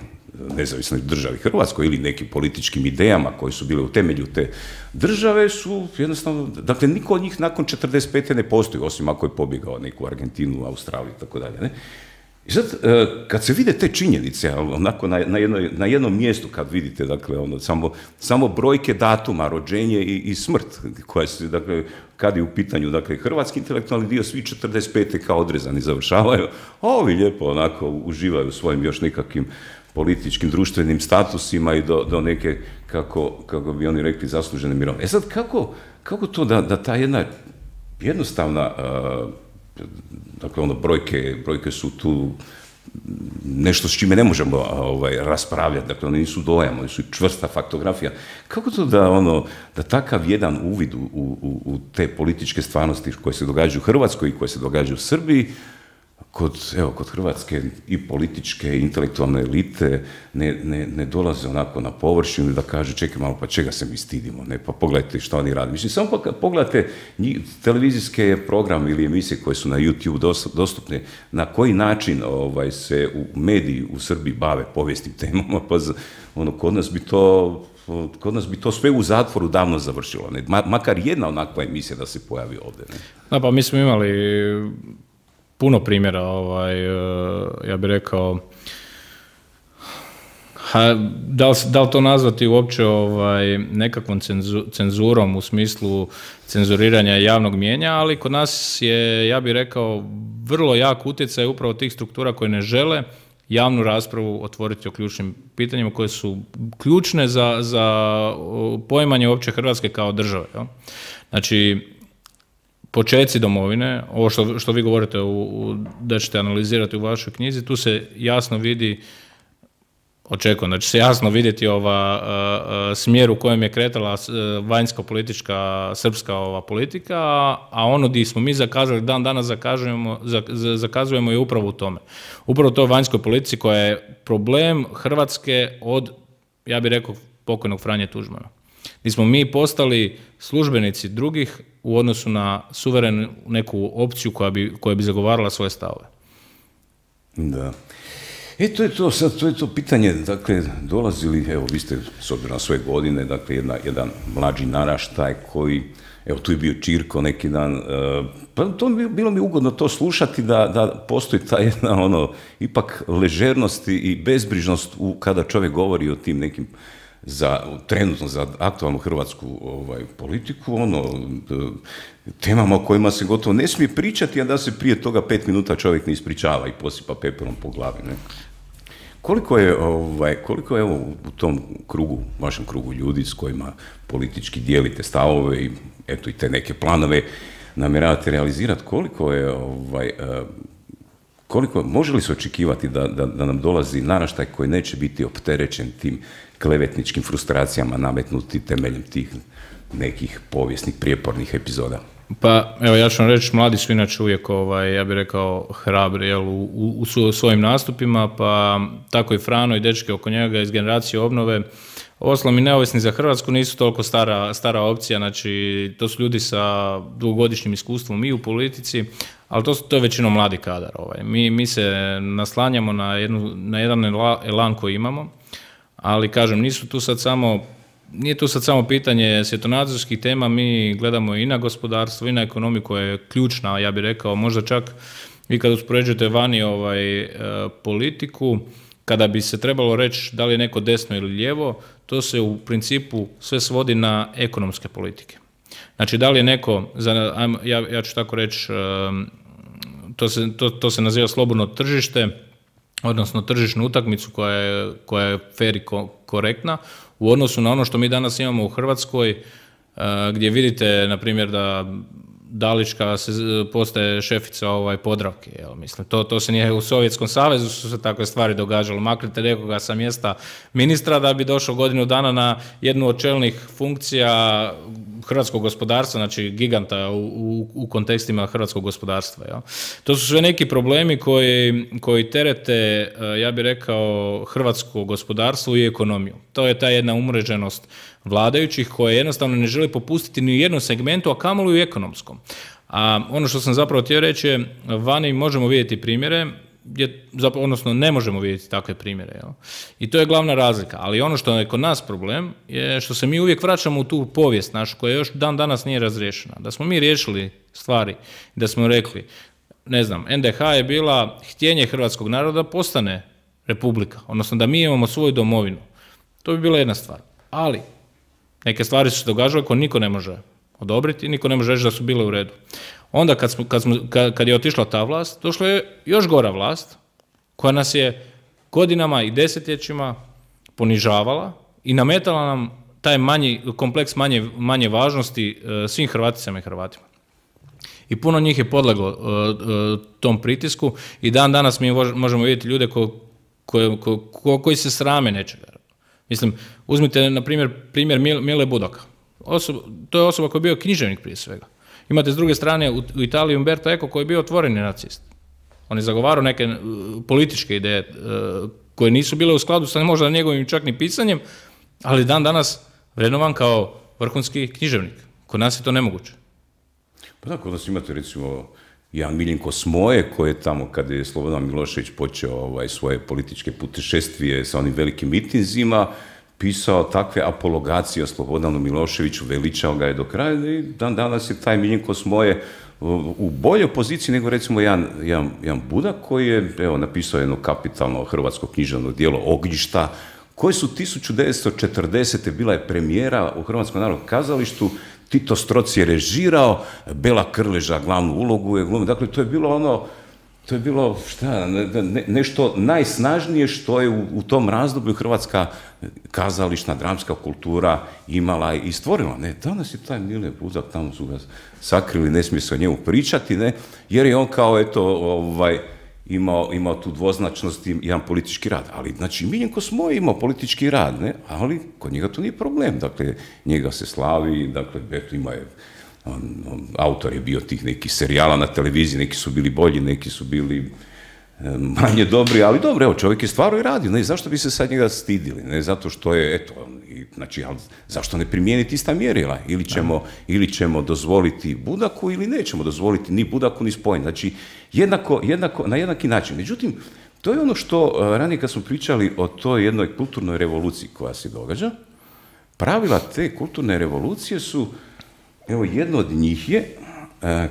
nezavisnoj državi Hrvatskoj ili nekim političkim idejama koje su bile u temelju te države su jednostavno, dakle, niko od njih nakon 45. ne postoji, osim ako je pobjegao neku Argentinu, Australiju i tako dalje. Ne? I sad, kad se vide te činjenice, onako na jednom mjestu kad vidite, dakle, samo brojke datuma, rođenje i smrt, koja se, dakle, kad je u pitanju, dakle, hrvatski intelektualni dio, svi 45. kao odrezani završavaju, a ovi lijepo onako uživaju svojim još nekakvim političkim, društvenim statusima i do neke, kako bi oni rekli, zaslužene mirovine. Sad, kako to da ta jedna jednostavna, dakle, brojke su tu nešto s čime ne možemo raspravljati, dakle, one nisu dojam, one su čvrsta faktografija. Kako to da takav jedan uvid u te političke stvarnosti koje se događaju u Hrvatskoj i koje se događaju u Srbiji, kod hrvatske i političke i intelektualne elite ne dolaze onako na površinu da kaže čekaj malo, pa čega se mi stidimo, ne, pa pogledajte što oni rade. Mislim, samo pogledajte televizijske programe ili emisije koje su na YouTube dostupne, na koji način se u mediji u Srbiji bave povijesnim temama, pa kod nas bi to sve u zatvoru davno završilo, ne? Makar jedna onakva emisija da se pojavi ovdje. Ne?
Da, pa mi smo imali puno primjera, ja bih rekao, da li to nazvati uopće nekakvom cenzurom u smislu cenzuriranja javnog mijenja, ali kod nas je, ja bih rekao, vrlo jak utjecaj upravo tih struktura koje ne žele javnu raspravu otvoriti o ključnim pitanjima koje su ključne za poimanje uopće Hrvatske kao države. Jel? Znači, počeci domovine, ovo što vi govorite da ćete analizirati u vašoj knjizi, tu se jasno vidi, očekujem da će se jasno vidjeti smjer u kojem je kretala vanjsko-politička srpska politika, a ono gdje smo mi zakazali, dan danas zakazujemo je upravo u tome. Upravo to vanjskoj politici koja je problem Hrvatske od, ja bih rekao, pokojnog Franje Tuđmana. Gdje smo mi postali službenici drugih u odnosu na suverenu neku opciju koja bi zagovarala svoje stavove.
Da. To je to, sad to je to pitanje, dakle, dolazi li, evo, vi ste, s obzirom na svoje godine, dakle, jedan mlađi naraštaj koji, evo, tu je bio Čirko neki dan, pa to bilo mi ugodno to slušati, da postoji ta jedna, ipak ležernost i bezbrižnost kada čovjek govori o tim nekim, trenutno za aktualnu hrvatsku politiku, temama o kojima se gotovo ne smije pričati, a da se prije toga 5 minuta čovjek ne ispričava i posipa peperom po glavi, ne? Koliko je u tom krugu, vašem krugu ljudi s kojima politički dijelite stavove i eto i te neke planove namjeravate realizirati, koliko može li se očekivati da nam dolazi naraštaj koji neće biti opterećen tim klevetničkim frustracijama nametnuti temeljem tih nekih povijesnih prijepornih epizoda?
Pa, evo, ja ću vam reći, mladi su inače uvijek, ja bih rekao, hrabri, u svojim nastupima, pa tako i Frano i dečki oko njega iz generacije obnove. Uostalom i neovisni za Hrvatsku nisu toliko stara opcija, znači to su ljudi sa dugogodišnjim iskustvom i u politici, ali to je većinom mladi kadar. Mi se naslanjamo na jedan elan koji imamo, ali kažem, nije tu sad samo pitanje svjetonazorskih tema, mi gledamo i na gospodarstvo i na ekonomiju koja je ključna, ja bih rekao, možda čak vi kad uspoređujete vani politiku, kada bi se trebalo reći da li je neko desno ili lijevo, to se u principu sve svodi na ekonomske politike. Znači, da li je neko, ja ću tako reći, to se naziva slobodno tržište, odnosno tržišnu utakmicu koja je fair i korektna, u odnosu na ono što mi danas imamo u Hrvatskoj, gdje vidite, na primjer, da Dalićka postaje šefica Podravke. Mislim, to se nije u Sovjetskom savezu, su se takve stvari događale. Maknite nekoga sa mjesta ministra da bi došao godinu dana na jednu od čelnih funkcija hrvatskog gospodarstva, znači giganta u kontekstima hrvatskog gospodarstva. Jel? To su sve neki problemi koji terete, ja bih rekao, hrvatsko gospodarstvo i ekonomiju. To je ta jedna umreženost vladajućih koje jednostavno ne žele popustiti ni u jednom segmentu, a kamoli u ekonomskom. A ono što sam zapravo htio reći je, vani možemo vidjeti primjere, odnosno ne možemo vidjeti takve primjere. Jel? I to je glavna razlika. Ali ono što je kod nas problem je što se mi uvijek vraćamo u tu povijest našu koja još dan danas nije razriješena. Da smo mi riješili stvari, da smo rekli, ne znam, NDH je bila htjenje hrvatskog naroda da postane republika, odnosno da mi imamo svoju domovinu. To bi bila jedna stvar. Ali neke stvari su se događale koje niko ne može odobriti, niko ne može reći da su bile u redu. Onda kad je otišla ta vlast, došla je još gora vlast koja nas je godinama i desetljećima ponižavala i nametala nam taj kompleks manje važnosti svim Hrvaticama i Hrvatima. I puno njih je podleglo tom pritisku i dan danas mi možemo vidjeti ljude koji se srame nečega. Mislim, uzmite na primjer Mile Budaka. To je osoba koja je bio književnik prije svega. Imate s druge strane u Italiji Umberto Eco koji je bio otvoreni nacist. On je zagovarao neke političke ideje koje nisu bile u skladu sa možda njegovim čak ni pisanjem, ali dan danas vrednovan kao vrhunski književnik. Kod nas je to nemoguće.
Pa da, kod nas imate recimo jedan Miljenko Smoje koji je tamo kada je Slobodan Milošević počeo svoje političke putešestvije sa onim velikim mitinzima, pisao takve apologacije o Slobodanu Miloševiću, veličao ga je do kraja i dan danas je taj Miljenko Smoje u boljoj poziciji nego recimo jedan Budak koji je napisao jedno kapitalno hrvatsko književno djelo Ognjišta, koje su 1940. bila je premijera u Hrvatskom narodnom kazalištu, Tito Stroc je režirao, Bela Krleža glavnu ulogu je glumila. Dakle, to je bilo nešto najsnažnije što je u tom razdoblju hrvatska kazališna, dramska kultura imala i stvorila. Ne, danas je taj Mile Budak, tamo su ga sakrili, ne smije se o njemu pričati, ne, jer je on kao imao tu dvoznačnost i jedan politički rad. Ali, znači, Miljenko Smoje imao politički rad, ne, ali kod njega to nije problem. Dakle, njega se slavi, dakle, eto, ima je autor je bio tih nekih serijala na televiziji, neki su bili bolji, neki su bili manje dobri, ali dobro, evo, čovjek je stvarno i radio, ne, zašto bi se sad njega stidili, ne, zato što je, eto, znači, ali zašto ne primijeniti ista mjerila, ili ćemo dozvoliti Budaku ili nećemo dozvoliti ni Budaku ni Spojeni, znači, jednako, na jednaki način. Međutim, To je ono što ranije kad smo pričali o toj jednoj kulturnoj revoluciji koja se događa. Pravila te kulturne revolucije su, evo jedno od njih je,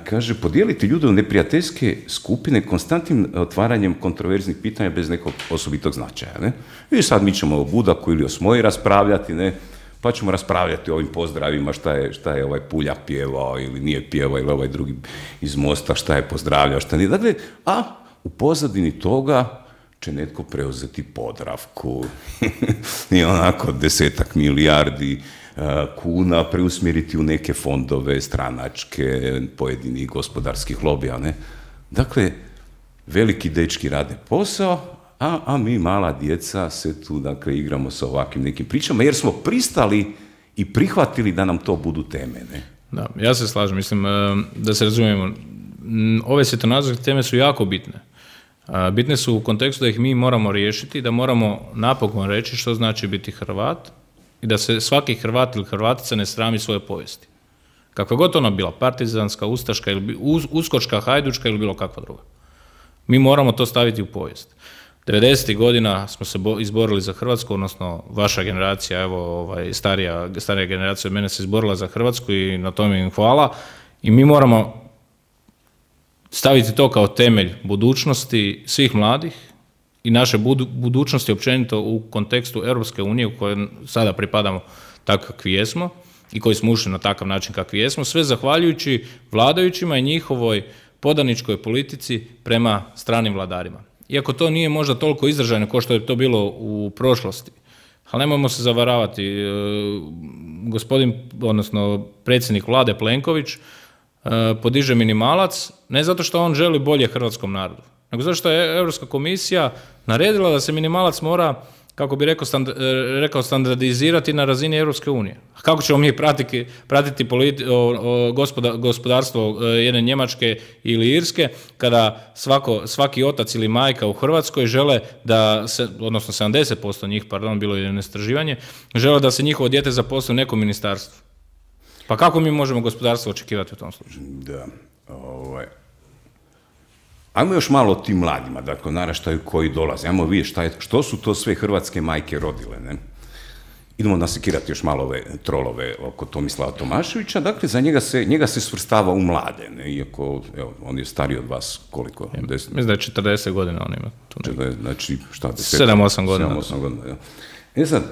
kaže, podijeliti ljude u neprijateljske skupine konstantnim otvaranjem kontroverznih pitanja bez nekog osobitog značaja. Ne? I sad mi ćemo o Budaku ili o Smoji raspravljati, ne? Pa ćemo raspravljati o ovim pozdravima, šta je ovaj Puljak pjevao ili nije pjevao, ili ovaj drugi iz Mosta šta je pozdravljao, šta nije. Dakle, a u pozadini toga će netko preuzeti Podravku i onako 10 milijardi kuna preusmjeriti u neke fondove stranačke, pojedinih gospodarskih lobija. Ne? Dakle, veliki dečki rade posao, a mi mala djeca se tu, dakle, igramo sa ovakvim nekim pričama, jer smo pristali i prihvatili da nam to budu teme. Ne?
Da, ja se slažem, mislim, da se razumijemo, ove svjetonazorske teme su jako bitne. Bitne su u kontekstu da ih mi moramo riješiti, da moramo napokon reći što znači biti Hrvat i da se svaki Hrvat ili Hrvatica ne srami svoje povijesti. Kakva god ona bila, partizanska, ustaška, ili uskočka, hajdučka ili bilo kakva druga. Mi moramo to staviti u povijest. 90. godina smo se izborili za Hrvatsku, odnosno vaša generacija, evo, starija generacija od mene se izborila za Hrvatsku i na tome im hvala. I mi moramo staviti to kao temelj budućnosti svih mladih i naše budućnosti općenito u kontekstu Europske unije u kojoj sada pripadamo tako kakvi jesmo i koji smo ušli na takav način kakvi jesmo, sve zahvaljujući vladajućima i njihovoj podaničkoj politici prema stranim vladarima. Iako to nije možda toliko izražajno kao što je to bilo u prošlosti, ali nemojmo se zavaravati, gospodin, odnosno predsjednik vlade Plenković, podiže minimalac, ne zato što on želi bolje hrvatskom narodu, nego zato što je Europska komisija naredila da se minimalac mora, kako bi rekao, standardizirati na razini Europske unije. A kako ćemo mi pratiti gospodarstvo jedne Njemačke ili Irske, kada svaki otac ili majka u Hrvatskoj žele da se, odnosno 70% njih, bilo je jedno istraživanje, žele da se njihovo dijete zaposli u nekom ministarstvu. Pa kako mi možemo gospodarstvo očekivati u tom slučaju?
Da, ajmo još malo o tim mladima, dakle, naraštaju koji dolaze. Ajmo vidjeti što su to sve hrvatske majke rodile, ne? Idemo nasekirati još malo ove trolove oko Tomislava Tomaševića. Dakle, za njega se svrstava u mlade, ne? Iako, evo, on je stariji od vas koliko?
Mislim da je 40 godina on ima.
Znači, šta?
7-8 godina.
7-8 godina, ja. Sad,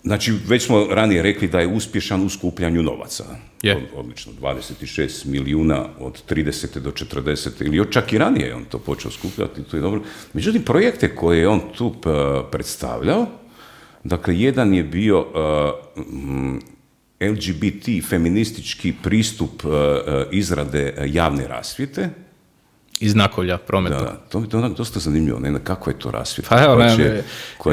znači, već smo ranije rekli da je uspješan u skupljanju novaca. Odlično, 26 milijuna od 30. do 40. ili čak i ranije je on to počeo skupljati, to je dobro. Međutim, projekte koje je on tu predstavljao, dakle, jedan je bio LGBT feministički pristup izrade javne rasvjete,
i znakovlja prometa.
Da, to je onak dosta zanimljivo, ne, kako je to rasvjeta.
Pa evo,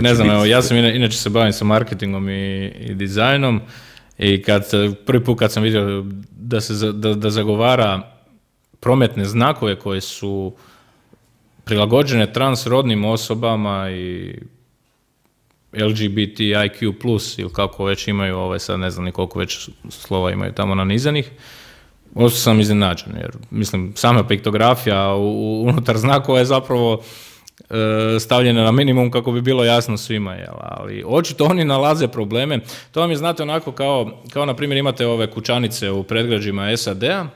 ne znam, ja sam inače se bavim sa marketingom i dizajnom i prvi put kad sam vidio da zagovara prometne znakove koje su prilagođene transrodnim osobama i LGBTIQ+, ili kako već imaju, sad ne znam ni koliko već slova imaju tamo nanizanih, ostao sam iznenađen, jer mislim, sama piktografija unutar znakova je zapravo stavljena na minimum kako bi bilo jasno svima, ali očito oni nalaze probleme. To vam je, znate, onako kao na primjer imate ove kućanice u predgrađima SAD-a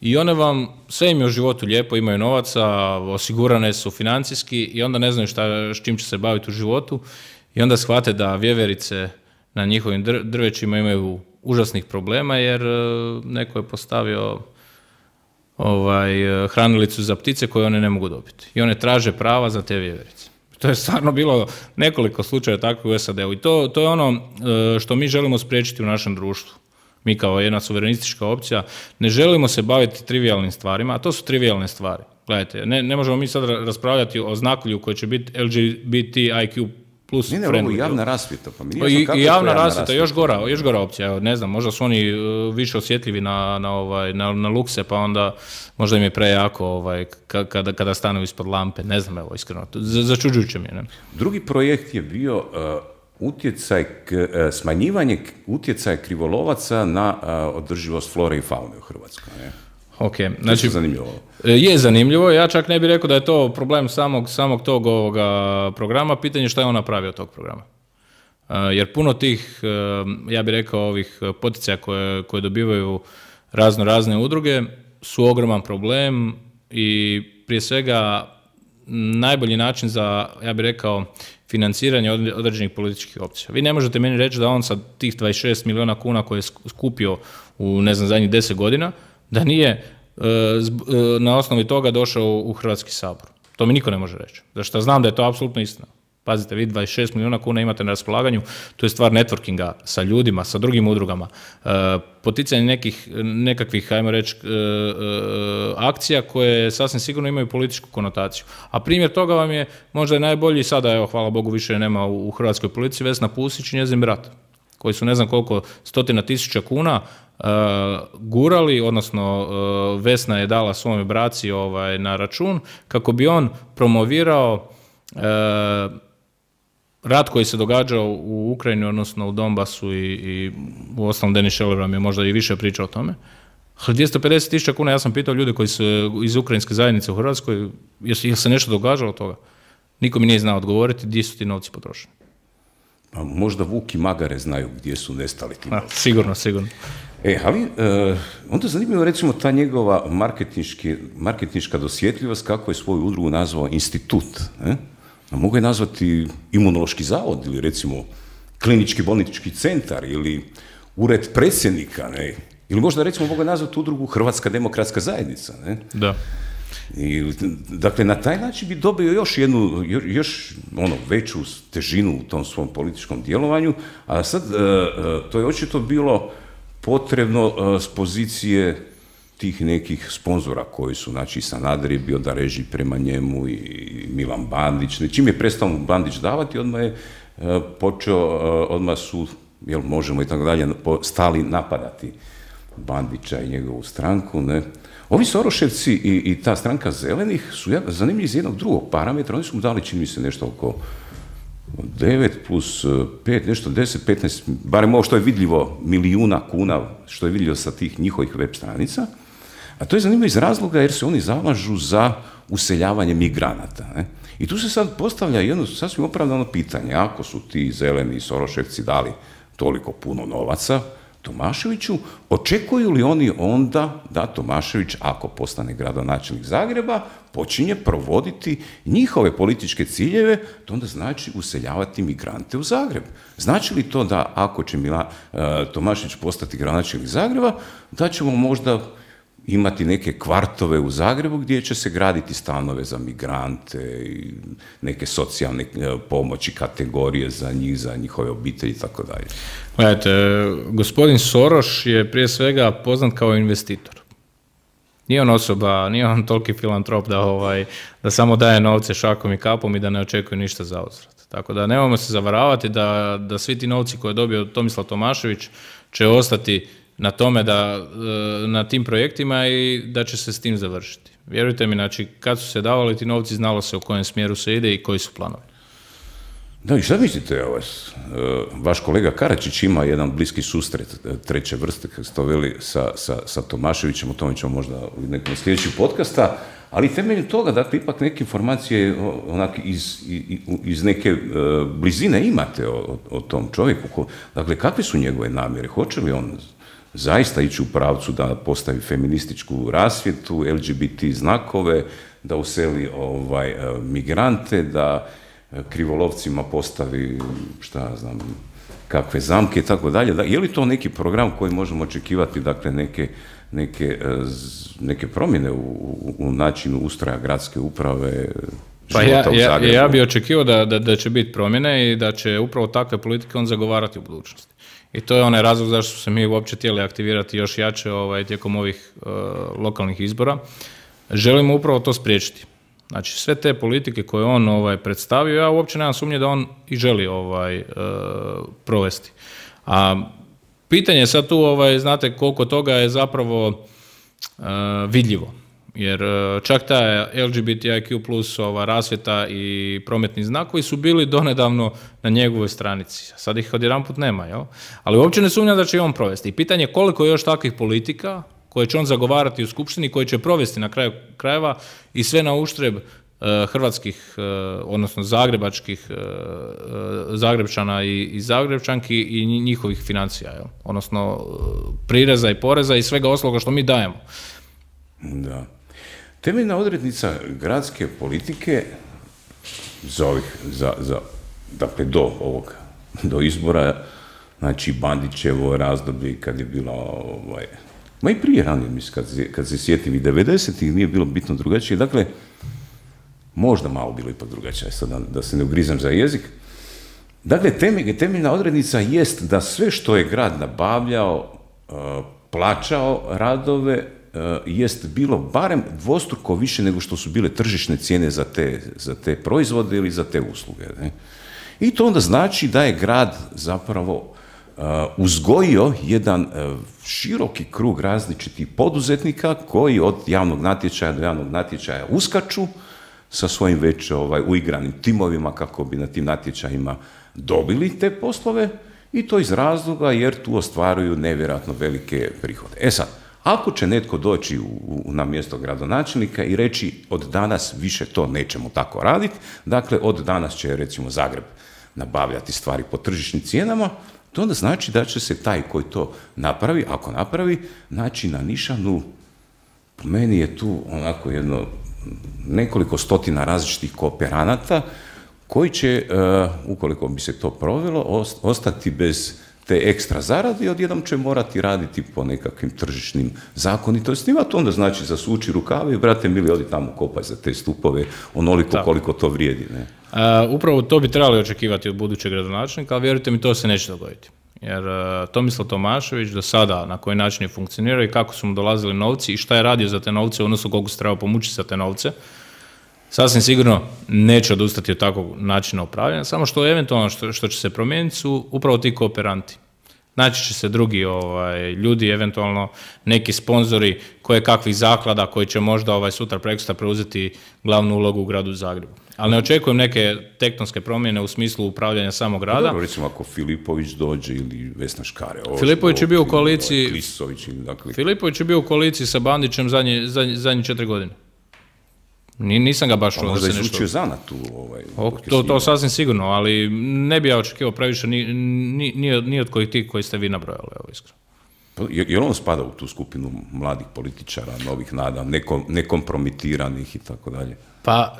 i one vam, sve im je u životu lijepo, imaju novaca, osigurane su financijski i onda ne znaju s čim će se baviti u životu i onda shvate da vjeverice na njihovim drvećima imaju užasnih problema jer neko je postavio hranilicu za ptice koje one ne mogu dobiti. I one traže prava za te vjeverice. To je stvarno bilo nekoliko slučaja takvih u SAD-u. I to je ono što mi želimo spriječiti u našem društvu. Mi kao jedna suverenistička opcija ne želimo se baviti trivijalnim stvarima, a to su trivijalne stvari. Gledajte, ne možemo mi sad raspravljati o znakovlju koji će biti LGBTIQ+.
Ne, ovo je javna rasvjeta. Pa
i javna rasvjeta, još gora opcija. Evo, ne znam, možda su oni više osjetljivi na lukse, pa onda možda im je prejako kada stanu ispod lampe. Ne znam, evo, iskreno. Začuđujuće mi je. Ne?
Drugi projekt je bio smanjivanje utjecaja krivolovaca na održivost flore i faune u Hrvatskoj. Ne?
Ok,
znači je zanimljivo.
Je zanimljivo, ja čak ne bih rekao da je to problem samog tog ovoga programa, pitanje je šta je on napravio od tog programa. Jer puno tih, ja bih rekao, ovih poticaja koje dobivaju razne udruge su ogroman problem i prije svega najbolji način za, ja bih rekao, financiranje određenih političkih opcija. Vi ne možete meni reći da on sa tih 26 milijuna kuna koje je skupio u, ne znam, zadnjih 10 godina, da nije na osnovi toga došao u Hrvatski sabor. To mi niko ne može reći. Zašto znam da je to apsolutno istina. Pazite, vi 26 milijuna kuna imate na raspolaganju, to je stvar networkinga sa ljudima, sa drugim udrugama, poticanje nekakvih, ajmo reći, akcija koje sasvim sigurno imaju političku konotaciju. A primjer toga vam je možda je najbolji, sada, evo, hvala Bogu, više nema u hrvatskoj policiji, Vesna Pusić i njezin brat, koji su ne znam koliko stotina tisuća kuna gurali, odnosno Vesna je dala svome braci na račun kako bi on promovirao rat koji se događao u Ukrajini, odnosno u Donbasu i u osnovom Denis Šeler vam je možda i više pričao o tome. Ali 250.000 kuna, ja sam pitao ljude koji su iz ukrajinske zajednice u Hrvatskoj, jel se nešto događalo od toga? Niko mi nije znao odgovoriti gdje su ti novci potrošeni.
Pa možda Vuk i Magare znaju gdje su nestali ti novci.
Sigurno.
Ali onda zanimljivo recimo ta njegova marketinška dosjetljivost, kako je svoju udrugu nazvao institut. A mogu je nazvati Imunološki zavod ili recimo klinički bolnički centar ili ured predsjednika, ne? Ili možda recimo mogu je nazvati udrugu Hrvatska demokratska zajednica. Ne?
Da.
Dakle, na taj način bi dobio još veću težinu u tom svom političkom djelovanju, a sad to je očito bilo potrebno s pozicije tih nekih sponzora koji su, znači Sanader je bio da reži prema njemu i Milan Bandić. Čim je prestao mu Bandić davati, odmah je počeo, odmah su, jel možemo i tako dalje, stali napadati Bandića i njegovu stranku. Ne? Ovi Soroševci i ta stranka zelenih su zanimljivi iz jednog drugog parametra. Oni su mu dali, čini mi se, nešto oko 9 plus 5, nešto 10, 15, barem ovo što je vidljivo, milijuna kuna, što je vidljivo sa tih njihovih web stranica. A to je zanimljivo iz razloga jer se oni zalažu za useljavanje migranata. Ne? I tu se sad postavlja jedno sasvim opravdano pitanje. Ako su ti zeleni Soroševci dali toliko puno novaca Tomaševiću, očekuju li oni onda da Tomašević, ako postane gradonačelnik Zagreba, počinje provoditi njihove političke ciljeve, to onda znači useljavati migrante u Zagreb. Znači li to da ako će Tomašević postati gradonačelnik Zagreba, da ćemo možda imati neke kvartove u Zagrebu gdje će se graditi stanove za migrante i neke socijalne pomoći, kategorije za njih, za njihove obitelji i tako dalje.
Gledajte, gospodin Soroš je prije svega poznat kao investitor. Nije on osoba, nije on toliki filantrop da samo daje novce šakom i kapom i da ne očekuje ništa za uzvrat. Tako da nemojmo se zavaravati da svi ti novci koje je dobio Tomislav Tomašević će ostati na tome na tim projektima i da će se s tim završiti. Vjerujte mi, znači, kad su se davali ti novci, znalo se u kojem smjeru se ide i koji su planovi.
Da, i šta mislite, vaš kolega Karačić ima jedan bliski susret treće vrste, kako ste to veli, sa Tomaševićem, o tome ćemo možda u nekom sljedećeg podcasta, ali temeljem toga, dakle, ipak neke informacije iz neke blizine imate o tom čovjeku. Dakle, kakve su njegove namjere? Hoće li on zaista ići u pravcu da postavi feminističku rasvjetu, LGBT znakove, da useli migrante, da krivolovcima postavi, šta znam, kakve zamke i tako dalje. Je li to neki program koji možemo očekivati, dakle, neke promjene u načinu ustroja gradske uprave, života u Zagrebu?
Ja bih očekivao da će biti promjene i da će upravo takve politike on zagovarati u budućnosti. I to je onaj razlog zašto su se mi uopće htjeli aktivirati još jače tijekom ovih lokalnih izbora. Želimo upravo to spriječiti. Znači, sve te politike koje on predstavio, ja uopće nemam sumnje da on i želi provesti. A pitanje je sad tu, znate, koliko toga je zapravo vidljivo. Jer čak ta LGBTIQ plus rasvjeta i prometni znakovi su bili donedavno na njegovoj stranici. Sad ih odjedanput nema, jel? Ali uopće ne sumnjam da će i on provesti. I pitanje je koliko još takvih politika koje će on zagovarati u skupštini, koje će provesti na kraju krajeva i sve na uštreb hrvatskih, odnosno Zagrebčana i Zagrebčanki i njihovih financija, odnosno prireza i poreza i svega ostaloga što mi dajemo.
Da. Temeljna odrednica gradske politike dakle do izbora, znači Bandićevo razdoblje kad je bilo ma i prije ranije, mislim, kad se sjetim i 90-ih nije bilo bitno drugačije, dakle možda malo bilo ipak drugačije, sad da se ne ugrizam za jezik. Dakle, temeljna odrednica jest da sve što je grad nabavljao, plaćao radove, jest bilo barem dvostruko više nego što su bile tržišne cijene za te proizvode ili za te usluge. Ne? I to onda znači da je grad zapravo uzgojio jedan široki krug različitih poduzetnika koji od javnog natječaja do javnog natječaja uskaču sa svojim već uigranim timovima kako bi na tim natječajima dobili te poslove i to iz razloga jer tu ostvaruju nevjerojatno velike prihode. E sad, ako će netko doći na mjesto gradonačelnika i reći od danas više to nećemo tako raditi, dakle od danas će recimo Zagreb nabavljati stvari po tržišnim cijenama, to onda znači da će se taj koji to napravi, ako napravi, naći na nišanu. Po meni je tu onako nekoliko stotina različitih kooperanata koji će, ukoliko bi se to provelo, ostati bez te ekstra zarade i odjednom će morati raditi po nekakvim tržišnim zakonitostima, to onda znači zasuči rukave i brate mili, odi tamo kopaj za te stupove onoliko koliko to vrijedi. Ne?
Upravo to bi trebali očekivati od budućeg gradonačelnika, ali vjerujte mi, to se neće dogoditi. Jer Tomislav Tomašević do sada na koji način je funkcionirao i kako su mu dolazili novci i šta je radio za te novce, odnosno koliko se trebao pomučiti za te novce, sasvim sigurno neće odustati od takvog načina upravljanja, samo što eventualno što će se promijeniti su upravo ti kooperanti. Naći će se drugi ljudi, eventualno neki sponzori koje kakvih zaklada koji će možda sutra prekosutra preuzeti glavnu ulogu u gradu Zagrebu. Ali ne očekujem neke tektonske promjene u smislu upravljanja samog grada.
Dobro, recimo ako Filipović dođe ili Vesna Škare.
Filipović je bio u koaliciji.
Dakle.
Filipović je bio u koaliciji sa Bandićem zadnje 4 godine. Nisam ga baš čuo.
Možda je izvučio zanat
to sasvim sigurno, ali ne bi ja očekivao previše ni od kojih tih koji ste vi nabrojali, iskreno.
Je li on spada u tu skupinu mladih političara, novih nada, nekompromitiranih i tako dalje?
Pa,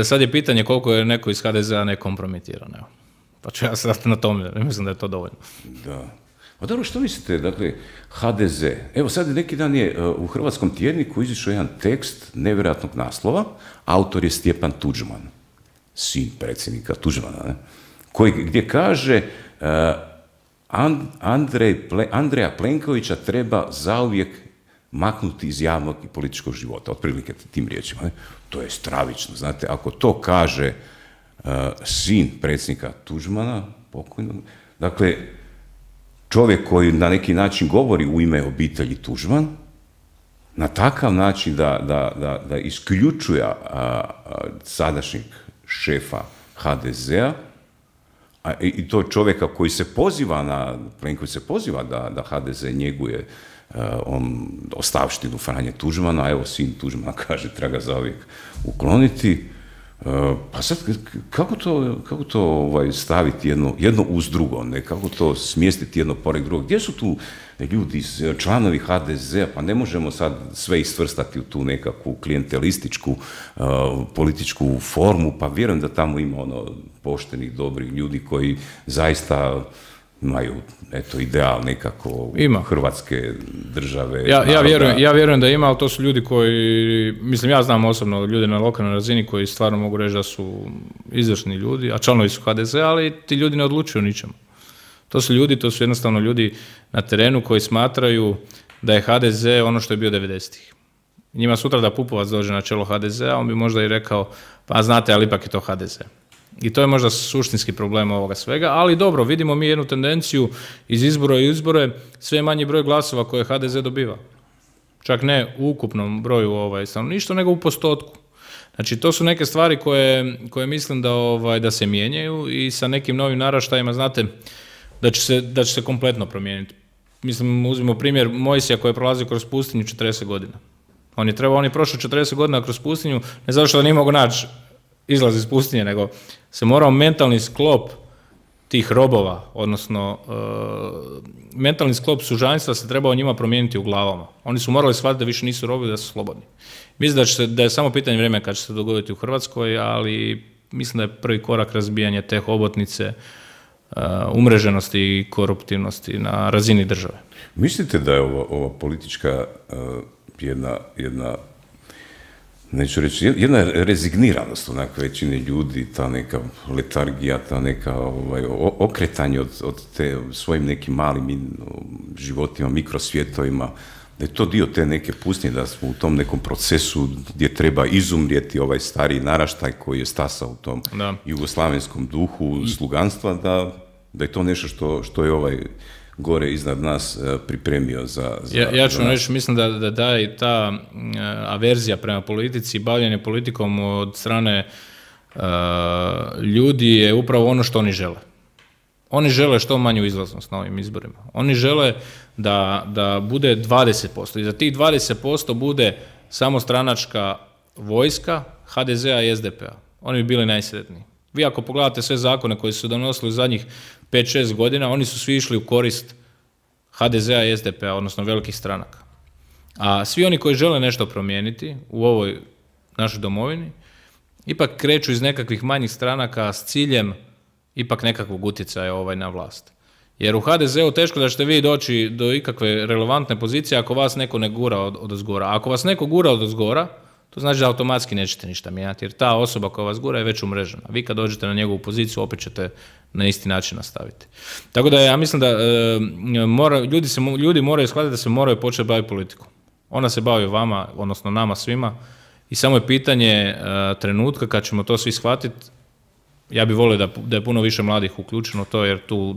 sad je pitanje koliko je neko iz HDZ-a nekompromitiran, evo. Pa ću ja sad na tome, mislim da je to dovoljno.
Da. Pa dobro, što mislite, dakle, HDZ, evo sad neki dan je u Hrvatskom tjedniku izišao jedan tekst nevjerojatnog naslova, autor je Stjepan Tuđman, sin predsjednika Tuđmana, ne? Gdje kaže Andreja Plenkovića treba zauvijek maknuti iz javnog i političkog života, otprilike tim riječima. Ne? To je stravično, znate, ako to kaže sin predsjednika Tuđmana, pokojnog, dakle, čovjek koji na neki način govori u ime obitelji Tuđman, na takav način da isključuje sadašnjeg šefa HDZ-a, i to čovjeka koji se poziva Plenković se poziva da HDZ njeguje ostavštinu Franje Tuđmana, a evo sin Tuđmana kaže treba ga zauvijek ukloniti. Pa sad, kako to staviti jedno uz drugo, ne? Kako to smjestiti jedno pored drugog? Gdje su tu ljudi, članovi HDZ-a? Pa ne možemo sad sve istvrstati u tu nekakvu klijentelističku političku formu, pa vjerujem da tamo ima poštenih, dobrih ljudi koji zaista imaju ideal nekako Hrvatske države.
Ja vjerujem da ima, ali to su ljudi koji, mislim, ja znam osobno ljude na lokalnoj razini koji stvarno mogu reći da su izvršni ljudi, a članovi su HDZ, ali ti ljudi ne odlučuju o ničemu. To su jednostavno ljudi na terenu koji smatraju da je HDZ ono što je bio 90-ih. Njima sutra da Pupovac dođe na čelo HDZ-a, on bi možda i rekao, pa znate, ali ipak je to HDZ. I to je možda suštinski problem ovoga svega, ali dobro, vidimo mi jednu tendenciju iz izbora i izbore, sve manji broj glasova koje HDZ dobiva. Čak ne u ukupnom broju stanovništva, nego u postotku. Znači, to su neke stvari koje mislim da se mijenjaju i sa nekim novim naraštajima, znate, da će se kompletno promijeniti. mislim, uzmimo primjer Mojsija koji je prolazio kroz pustinju 40 godina. On je prošao 40 godina kroz pustinju, ne zato što nije mogao naći izlaz iz pustinje, nego se morao mentalni sklop tih robova, odnosno mentalni sklop sužanjstva se trebao njima promijeniti u glavama. Oni su morali shvatiti da više nisu robovi, da su slobodni. Mislim da je samo pitanje vremena kad će se dogoditi u Hrvatskoj, ali mislim da je prvi korak razbijanje te hobotnice, umreženosti i koruptivnosti na razini države.
Mislite da je ova politička jedna neću reći, jedna rezigniranost onak većine ljudi, ta neka letargija, ta neka okretanje od te svojim nekim malim životima, mikrosvjetovima, da je to dio te neke pustinje, da smo u tom nekom procesu gdje treba izumrijeti ovaj stariji naraštaj koji je stasao u tom jugoslavenskom duhu sluganstva, da je to nešto što je gore iznad nas pripremio za
ja ću reći, mislim da je ta averzija prema politici, bavljenje politikom od strane ljudi je upravo ono što oni žele. Oni žele što manju izlaznost na ovim izborima. Oni žele da bude 20% i za tih 20% bude samo stranačka vojska HDZ-a i SDP-a. Oni bi bili najsretniji. Vi ako pogledate sve zakone koji su donosili u zadnjih 5-6 godina, oni su svi išli u korist HDZ-a i SDP-a, odnosno velikih stranaka. A svi oni koji žele nešto promijeniti u ovoj našoj domovini, ipak kreću iz nekakvih manjih stranaka s ciljem ipak nekakvog utjecaja na vlast. Jer u HDZ-u teško da ćete vi doći do ikakve relevantne pozicije ako vas neko ne gura odozgora. Ako vas neko gura odozgora, to znači da automatski nećete ništa mijenjati, jer ta osoba koja vas gura je već umrežena. Vi kad dođete na njegovu poziciju, opet ćete na isti način nastaviti. Tako da ja mislim da ljudi moraju shvatiti da se moraju početi baviti politikom. Ona se bavi vama, odnosno nama svima, i samo je pitanje trenutka kad ćemo to svi shvatiti. Ja bih volio da je puno više mladih uključeno to, jer tu,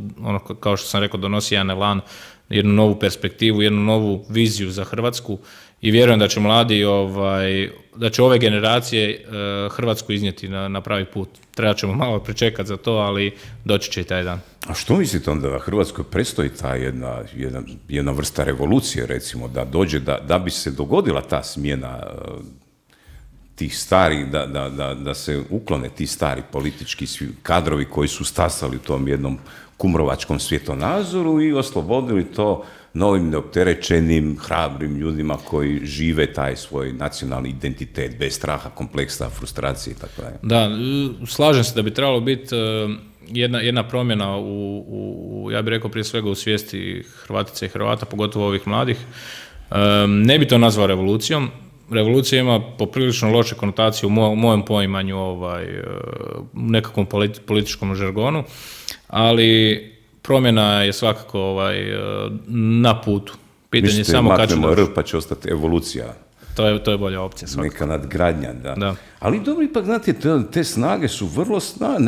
kao što sam rekao, donosi jedan elan, jednu novu perspektivu, jednu novu viziju za Hrvatsku i vjerujem da će mladi, da će ove generacije Hrvatsku iznijeti na pravi put. Treba ćemo malo pričekati za to, ali doći će i taj dan.
A što mislite onda da Hrvatskoj predstoji ta jedna vrsta revolucije, recimo, da dođe, da bi se dogodila ta smjena tih starih, da se uklone ti stari politički kadrovi koji su stasali u tom jednom kumrovačkom svjetonazoru i oslobodili to novim neopterećenim, hrabrim ljudima koji žive taj svoj nacionalni identitet bez straha, kompleksa, frustracije i tako dalje.
Da, slažem se da bi trebalo biti jedna promjena ja bih rekao prije svega u svijesti Hrvatica i Hrvata, pogotovo ovih mladih. Ne bi to nazvao revolucijom. Revolucija ima poprilično loše konotacije u mojem poimanju nekakvom političkom žargonu, ali promjena je svakako na putu. Pitanje je samo kad će doći.
Pa će ostati evolucija.
To je bolja opcija svakako.
Neka nadgradnja, da. Ali dobro, ipak, znate, te snage su vrlo snage,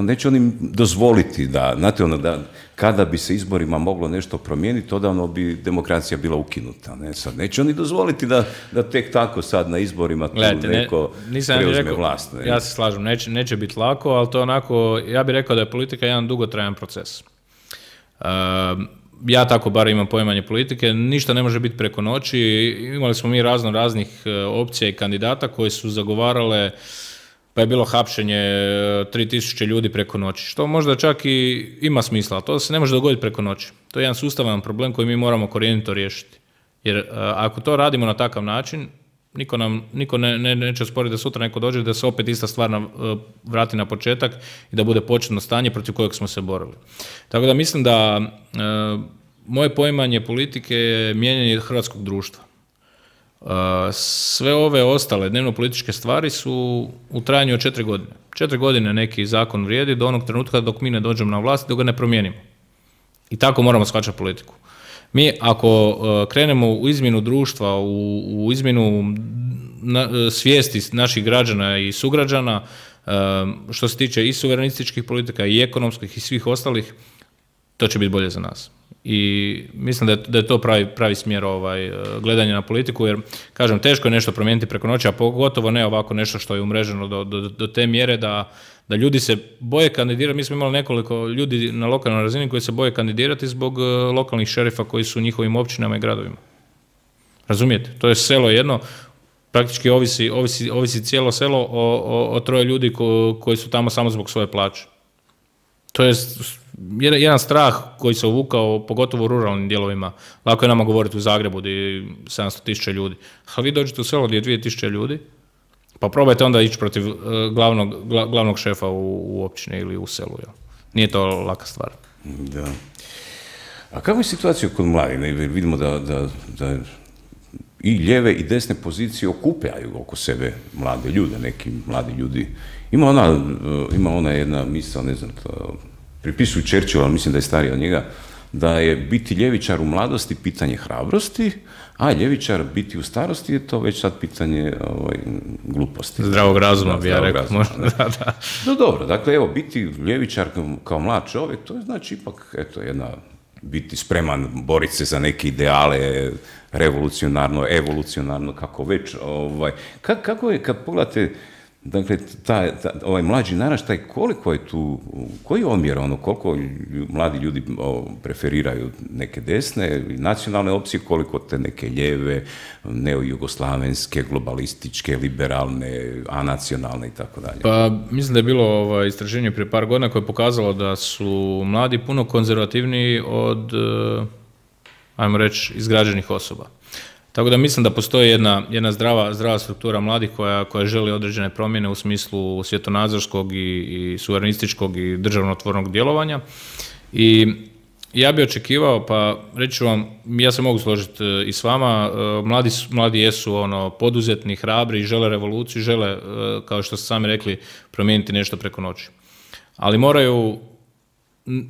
neće oni dozvoliti da, znate, da kada bi se izborima moglo nešto promijeniti, odavno bi demokracija bila ukinuta. Ne? Sad, neće oni dozvoliti da tek tako sad na izborima neko preuzme vlast. Ne?
Ja se slažem, neće biti lako, ali to onako, ja bih rekao da je politika jedan dugotrajan proces. Ja tako bar imam poimanje politike, ništa ne može biti preko noći. Imali smo mi raznih opcija i kandidata koji su zagovarale, pa je bilo hapšenje 3000 ljudi preko noći, što možda čak i ima smisla, ali to se ne može dogoditi preko noći. To je jedan sustavan problem koji mi moramo korijenito riješiti. Jer ako to radimo na takav način, niko neće osporiti da sutra neko dođe da se opet ista stvar vrati na početak i da bude početno stanje protiv kojeg smo se borili. Tako da mislim da moje poimanje politike je mijenjanje hrvatskog društva. Sve ove ostale dnevno-političke stvari su u trajanju od 4 godine. 4 godine neki zakon vrijedi do onog trenutka dok mi ne dođemo na vlast, dok ga ne promijenimo. I tako moramo shvaćati politiku. Mi ako krenemo u izmjenu društva, u izmjenu svijesti naših građana i sugrađana, što se tiče i suverenističkih politika i ekonomskih i svih ostalih, to će biti bolje za nas. I mislim da je to pravi smjer gledanja na politiku, jer, kažem, teško je nešto promijeniti preko noći, a pogotovo ne ovako nešto što je umreženo do te mjere da ljudi se boje kandidirati. Mi smo imali nekoliko ljudi na lokalnoj razini koji se boje kandidirati zbog lokalnih šerifa koji su u njihovim općinama i gradovima. Razumijete? To je selo jedno, praktički ovisi cijelo selo o troje ljudi koji su tamo samo zbog svoje plaće. To je jedan strah koji se uvukao, pogotovo u ruralnim dijelovima. Lako je nama govoriti u Zagrebu gdje je 700.000 ljudi. A vi dođete u selo gdje je 2.000 ljudi, pa probajte onda ići protiv glavnog šefa u općini ili u selu. Jel? Nije to laka stvar.
Da. A kakva je situacija kod mladih? Vidimo da i lijeve i desne pozicije okupljaju oko sebe mlade ljude, neki mladi ljudi. Ima ona jedna misao, ne znam, pripisuju Churchillu, ali mislim da je stariji od njega, da je biti ljevičar u mladosti pitanje hrabrosti, a ljevičar biti u starosti je to već sad pitanje gluposti.
Zdravog razuma, bi ja rekao.
No dobro, dakle, evo, biti ljevičar kao mlad čovjek, to je znači ipak, biti spreman boriti se za neke ideale, revolucionarno, evolucionarno, kako već. Kako je, kad pogledate, dakle, ovaj mlađi naraštaj, koliko je tu, koji je omjer, koliko mladi ljudi preferiraju neke desne, nacionalne opcije, koliko te neke lijeve, neojugoslavenske, globalističke, liberalne, anacionalne i tako dalje?
Pa, mislim da je bilo istraženje prije par godina koje je pokazalo da su mladi puno konzervativniji od, ajmo reći, izgrađenih osoba. Tako da mislim da postoji jedna zdrava struktura mladih koja želi određene promjene u smislu svjetonazorskog i suverenističkog i državotvornog djelovanja. I ja bih očekivao, pa reći ću vam, ja se mogu složiti i s vama, mladi jesu poduzetni, hrabri, žele revoluciju, žele, kao što ste sami rekli, promijeniti nešto preko noći. Ali moraju,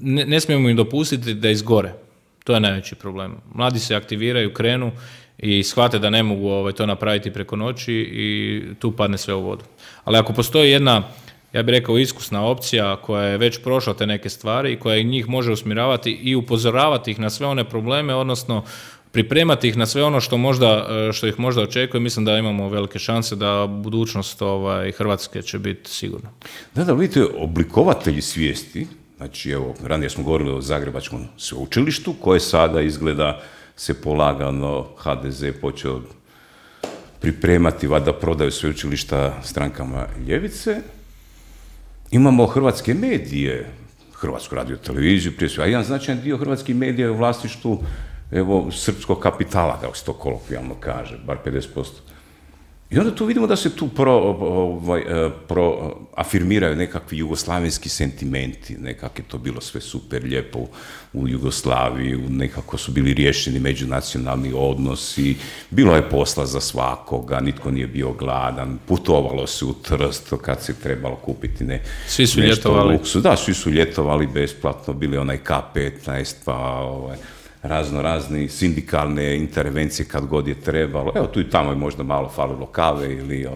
ne smijemo im dopustiti da izgore. To je najveći problem. Mladi se aktiviraju, krenu i shvate da ne mogu to napraviti preko noći i tu padne sve u vodu. Ali ako postoji jedna, ja bih rekao, iskusna opcija koja je već prošla te neke stvari i koja njih može usmjeravati i upozoravati ih na sve one probleme, odnosno pripremati ih na sve ono što ih možda očekuje, mislim da imamo velike šanse da budućnost Hrvatske će biti sigurna.
Da, vidite, oblikovatelji svijesti, znači evo, ranije smo govorili o Zagrebačkom sveučilištu, koje sada izgleda se polagano HDZ počeo pripremati, valjda prodaju sveučilišta strankama ljevice. Imamo hrvatske medije, Hrvatsku radioteleviziju, prije svega, a jedan značajan dio hrvatskih medija je u vlasništvu srpskog kapitala, kako se to kolokvijalno kaže, bar 50%. I onda tu vidimo da se tu afirmiraju nekakvi jugoslavenski sentimenti, nekako je to bilo sve super lijepo u Jugoslaviji, nekako su bili riješeni međunacionalni odnosi, bilo je posla za svakoga, nitko nije bio gladan, putovalo se u Trst kad se trebalo kupiti
svi su ljetovali.
Luksu. Da, svi su ljetovali besplatno, bili onaj K15, pa razni sindikalne intervencije kad god je trebalo. Evo, tu i tamo je možda malo falilo kave ili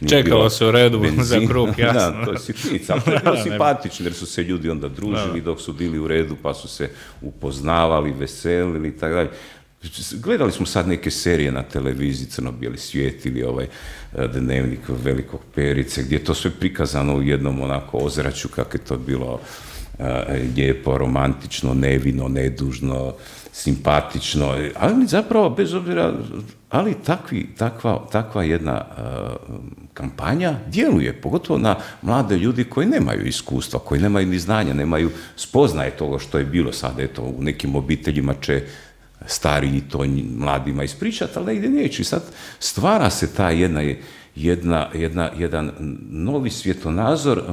čekalo se u redu za kruh, jasno.
Da, to je sitnica, ali to je bilo simpatično jer su se ljudi onda družili dok su bili u redu, pa su se upoznavali, veselili i tako dalje. Gledali smo sad neke serije na televiziji, Crno-bijeli svijet ili Dnevnik velikog Perice, gdje je to sve prikazano u jednom onako ozračju kako je to bilo lijepo, romantično, nevino, nedužno, simpatično, ali zapravo bez obzira, ali takva jedna kampanja djeluje, pogotovo na mlade ljudi koji nemaju iskustva, koji nemaju ni znanja, nemaju spoznaje toga što je bilo sad, eto, u nekim obiteljima će stariji to mladima ispričati, ali negdje neće. I sad stvara se ta jedan novi svjetonazor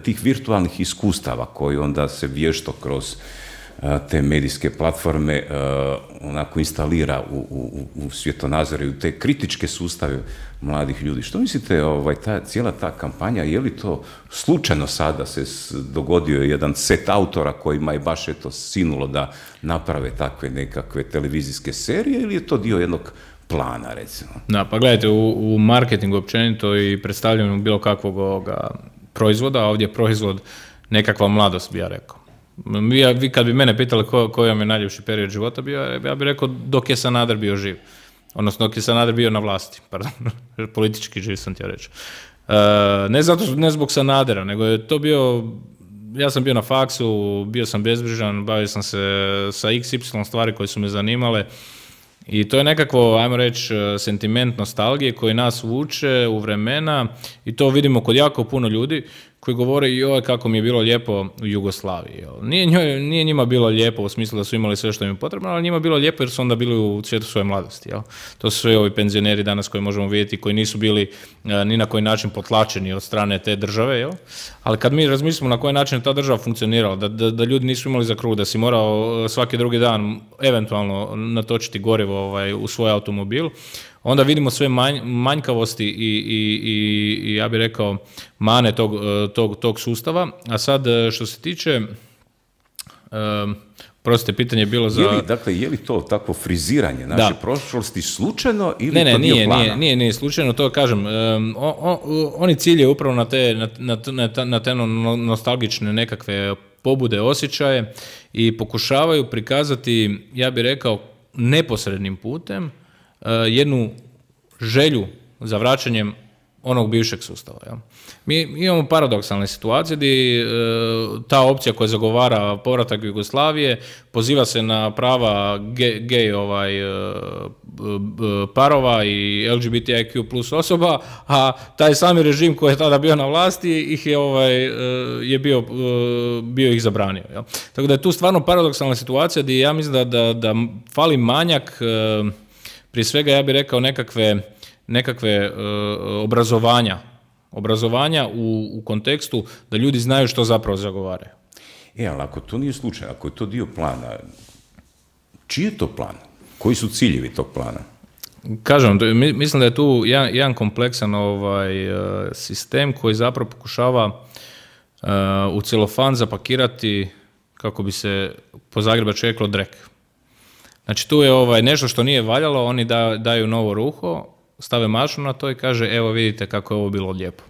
tih virtualnih iskustava koji onda se vješto kroz te medijske platforme onako instalira u svjetonazore i u te kritičke sustave mladih ljudi. Što mislite, cijela ta kampanja, je li to slučajno sada se dogodio jedan set autora kojima je baš sinulo da naprave takve nekakve televizijske serije ili je to dio jednog plana, recimo?
Da, pa gledajte, u marketingu općenito i predstavljanju bilo kakvog proizvoda, a ovdje je proizvod nekakva mladost, bi ja rekao. Vi kad bi mene pitali koji vam je najljepši period života bio, ja bih rekao dok je Sanader bio živ. Odnosno dok je Sanader bio na vlasti, pardon, politički živ sam htio reći. Ne zbog Sanadera, nego je to bio, ja sam bio na faksu, bio sam bezbrižan, bavio sam se sa XY stvari koje su me zanimale i to je nekakvo, ajmo reći, sentiment nostalgije koji nas vuče u vremena i to vidimo kod jako puno ljudi koji govore joj kako mi je bilo lijepo u Jugoslaviji. Nije njima bilo lijepo u smislu da su imali sve što im je potrebno, ali njima je bilo lijepo jer su onda bili u cvijetu svoje mladosti. To su sve ovi penzioneri danas koji možemo vidjeti koji nisu bili ni na koji način potlačeni od strane te države. Ali kad mi razmislimo na koji način je ta država funkcionirala, da ljudi nisu imali za kruh, da si morao svaki drugi dan eventualno natočiti gorivo u svoj automobil, onda vidimo sve manjkavosti i ja bih rekao mane tog sustava. A sad što se tiče, prostite, pitanje je bilo za...
Je li to takvo friziranje naše prošlosti slučajno ili to dio plana?
Nije slučajno, to kažem. Oni cilje upravo na te nostalgične nekakve pobude, osjećaje i pokušavaju prikazati, ja bih rekao, neposrednim putem jednu želju za vraćanjem onog bivšeg sustava. Ja. Mi imamo paradoksalne situacije gdje ta opcija koja zagovara povratak Jugoslavije poziva se na prava gej parova i LGBTIQ plus osoba, a taj sami režim koji je tada bio na vlasti ih je bio ih zabranio. Ja. Tako da je tu stvarno paradoksalna situacija gdje ja mislim da fali manjak, prije svega ja bih rekao nekakve obrazovanja u kontekstu da ljudi znaju što zapravo zagovaraju.
Ali ako to nije slučaj, ako je to dio plana, čiji je to plan? Koji su ciljevi tog plana?
Kažem, mislim da je tu jedan kompleksan sistem koji zapravo pokušava u celofan zapakirati, kako bi se po zagrebački reklo, drek. Znači tu je nešto što nije valjalo, oni daju novo ruho, stave mašnu na to i kaže evo vidite kako je ovo bilo lijepo.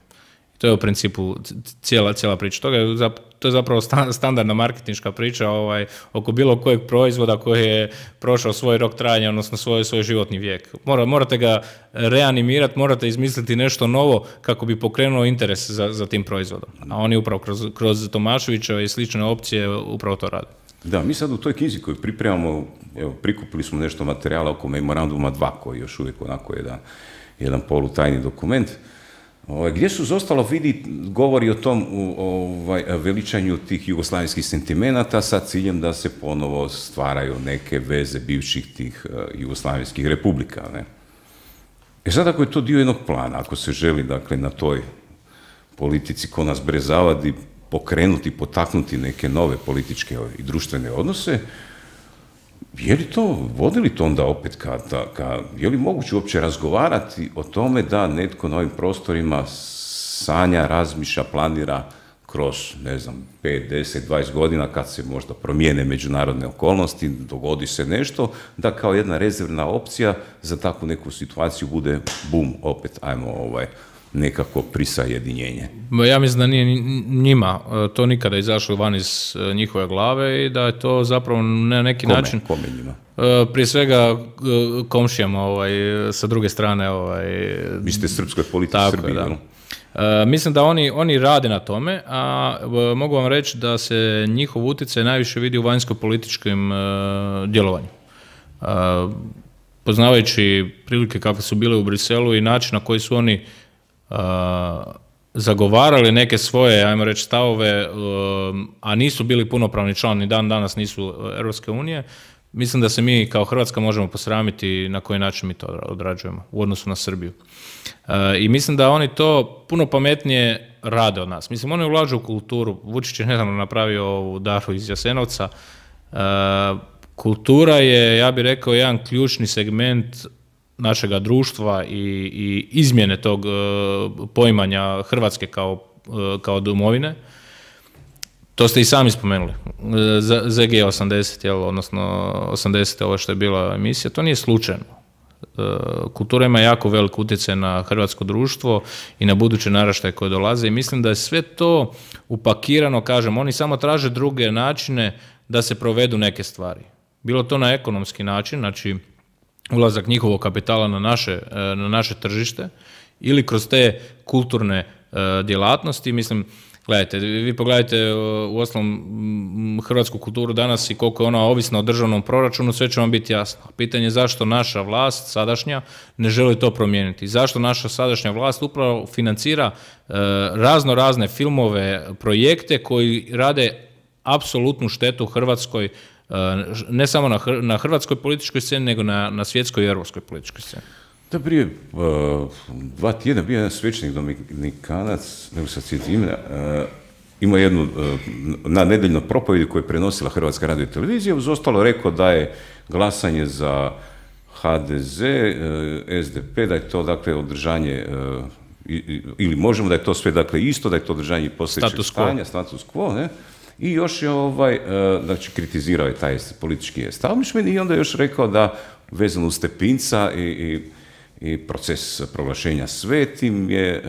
To je u principu cijela priča. To je zapravo standardna marketinška priča oko bilo kojeg proizvoda koji je prošao svoj rok trajanja, odnosno svoj životni vijek. Morate ga reanimirati, morate izmisliti nešto novo kako bi pokrenuo interes za tim proizvodom. A oni upravo kroz Tomaševića i slične opcije upravo to rade.
Da, mi sad u toj knjizi koju pripremamo, prikupili smo nešto materijala oko Memoranduma 2, koji je još uvijek onako jedan polutajni dokument, gdje su zostalo govori o tom veličanju tih jugoslavenskih sentimenata sa ciljem da se ponovo stvaraju neke veze bivših tih jugoslavenskih republika. Ne? Sad ako je to dio jednog plana, ako se želi dakle, na toj politici ko nas brezavadi pokrenuti, potaknuti neke nove političke i društvene odnose, vodi li to onda opet je li moguće uopće razgovarati o tome da netko na ovim prostorima sanja, razmišlja, planira kroz, 5, 10, 20 godina kad se možda promijene međunarodne okolnosti, dogodi se nešto, da kao jedna rezervna opcija za takvu neku situaciju bude bum, opet ajmo nekako prisajedinjenje.
Ja mislim da nije njima to nikada izašlo van iz njihove glave i da je to zapravo na neki način...
Kome njima?
Prije svega komšijama sa druge strane...
Vi ste srpskoj politici Srbije,
da. Mislim da oni rade na tome, a mogu vam reći da se njihov utjecaj najviše vidi u vanjsko-političkim djelovanju. Poznavajući prilike kakve su bile u Briselu i način na koji su oni zagovarali neke svoje, ajmo reći, stavove, a nisu bili punopravni član, ni danas nisu Europske unije, mislim da se mi kao Hrvatska možemo posramiti na koji način mi to odrađujemo u odnosu na Srbiju. I mislim da oni to puno pametnije rade od nas. Mislim, oni ulažu u kulturu. Vučić je nedavno napravio ovu daru iz Jasenovca. Kultura je, ja bih rekao, jedan ključni segment našega društva i izmjene tog poimanja Hrvatske kao domovine. To ste i sami spomenuli. ZG 80, odnosno 80, ovo što je bila emisija, to nije slučajno. kultura ima jako velik utjecaj na hrvatsko društvo i na buduće naraštaje koje dolaze i mislim da je sve to upakirano, kažem, oni samo traže druge načine da se provedu neke stvari. Bilo to na ekonomski način, znači ulazak njihovog kapitala na naše tržište ili kroz te kulturne djelatnosti. Mislim, gledajte, vi pogledajte uostalom hrvatsku kulturu danas i koliko je ona ovisna o državnom proračunu, sve će vam biti jasno. Pitanje je zašto naša vlast sadašnja ne želi to promijeniti. Zašto naša sadašnja vlast upravo financira razne filmove, projekte koji rade apsolutnu štetu Hrvatskoj, ne samo na hrvatskoj političkoj sceni, nego na svjetskoj i europskoj političkoj sceni.
Da, prije 2 tjedna bio jedan svećenik Dominikanac, nego sad svijet imena, ima jednu na nedeljnu propovjedi koju je prenosila Hrvatska radiotelevizija, uz ostalo rekao da je glasanje za HDZ, SDP, da je to dakle održanje, ili možemo da je to sve dakle isto, da je to održanje postojećeg stanja, status quo, ne? I još je znači kritizirao je taj politički establishment i onda je još rekao da vezano uz Stepinca i proces proglašenja svetim je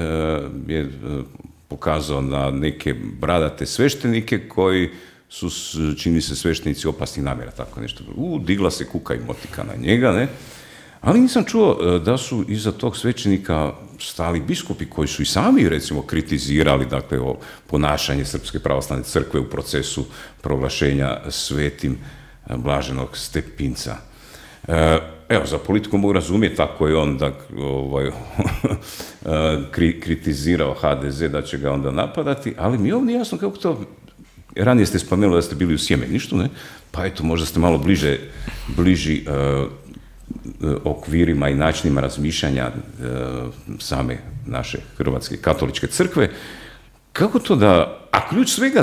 pokazao na neke bradate sveštenike koji su, čini se, sveštenici opasnih namjera, tako nešto. Digla se kuka i motika na njega, ne? Ali nisam čuo da su iza tog svećenika stali biskupi koji su i sami, recimo, kritizirali dakle, ponašanje Srpske pravoslavne crkve u procesu proglašenja svetim blaženog Stepinca. Evo, za politiku mogu razumjeti ako je on kritizirao HDZ da će ga onda napadati, ali mi je ovdje jasno kako to, ranije ste spomenuli da ste bili u Sjemeništu, ne? Pa eto, možda ste malo bliži okvirima i načinima razmišljanja same naše Hrvatske katoličke crkve. Kako to da, a ključ svega